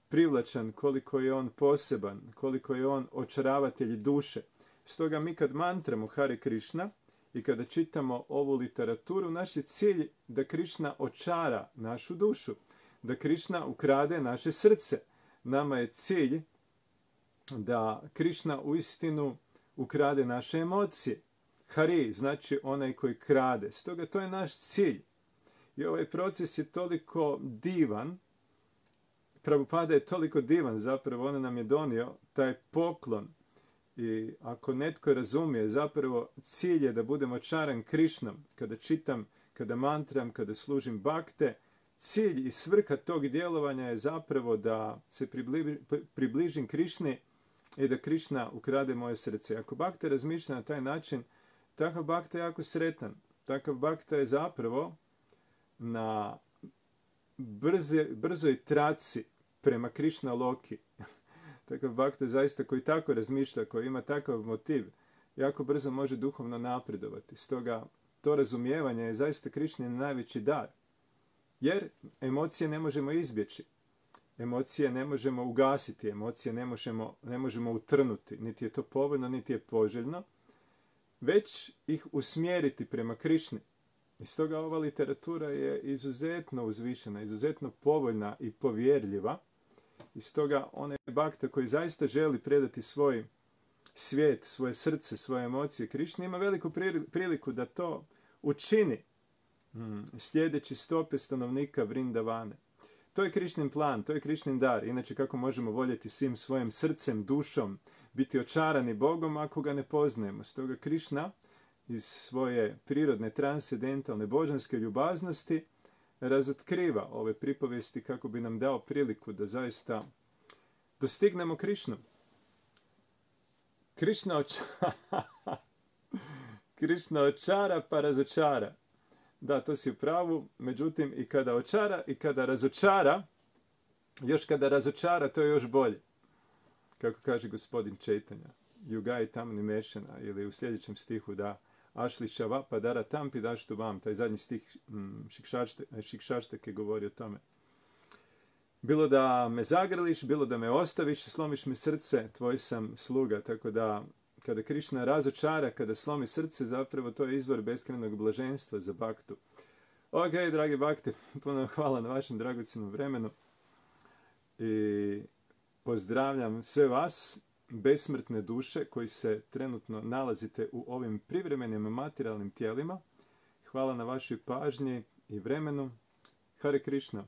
privlačan, koliko je on poseban, koliko je on očaravatelj duše. Stoga mi kad mantramo Hare Krišna i kada čitamo ovu literaturu, naš je cilj da Krišna očara našu dušu, da Krišna ukrade naše srce. Nama je cilj da Krišna uistinu ukrade naše emocije. Hari znači onaj koji krade. Stoga to je naš cilj. I ovaj proces je toliko divan, Prabhupada je toliko divan, zapravo on nam je donio taj poklon. I ako netko razumije, zapravo cilj je da budem očaran Krišnom. Kada čitam, kada mantram, kada služim bakte, cilj i svrha tog djelovanja je zapravo da se približi, približim Krišni i da Krišna ukrade moje srce. Ako bakta razmišlja na taj način, takav bakta je jako sretan. Takav bakta je zapravo na brze, brzoj traci prema Krišna Loki. Takav bakta je zaista koji tako razmišlja, koji ima takav motiv, jako brzo može duhovno napredovati. Stoga to razumijevanje je zaista Krišnin najveći dar. Jer emocije ne možemo izbjeći. Emocije ne možemo ugasiti, emocije ne možemo, ne možemo utrnuti. Niti je to povoljno, niti je poželjno. Već ih usmjeriti prema Krišni. I stoga ova literatura je izuzetno uzvišena, izuzetno povoljna i povjerljiva. I stoga onaj bakta koji zaista želi predati svoj svijet, svoje srce, svoje emocije Krišni, ima veliku priliku da to učini hmm, sljedeći stope stanovnika Vrindavane. To je Krišnin plan, to je Krišnin dar. Inače, kako možemo voljeti svim svojim srcem, dušom, biti očarani Bogom ako ga ne poznajemo. Stoga Krišna iz svoje prirodne, transcendentalne, božanske ljubaznosti razotkriva ove pripovesti kako bi nam dao priliku da zaista dostignemo Krišnu. Krišna očara, Krišna očara pa razočara. Da, to si u pravu, međutim i kada očara i kada razočara, još kada razočara to je još bolje. Kako kaže gospodin Čejtanja, Jugai tamni mešana, ili u sljedećem stihu da Ašli šava pa dara tampi daštu vam, taj zadnji stih Šikšaštake govori o tome. Bilo da me zagrliš, bilo da me ostaviš, slomiš mi srce, tvoj sam sluga. Tako da kada Krišna razočara, kada slomi srce, zapravo to je izvor beskrajnog blaženstva za baktu. Ok, dragi bakte, puno hvala na vašem dragocjenom vremenu i pozdravljam sve vas, besmrtne duše koji se trenutno nalazite u ovim privremenim materijalnim tijelima. Hvala na vašoj pažnji i vremenu. Hare Krišna.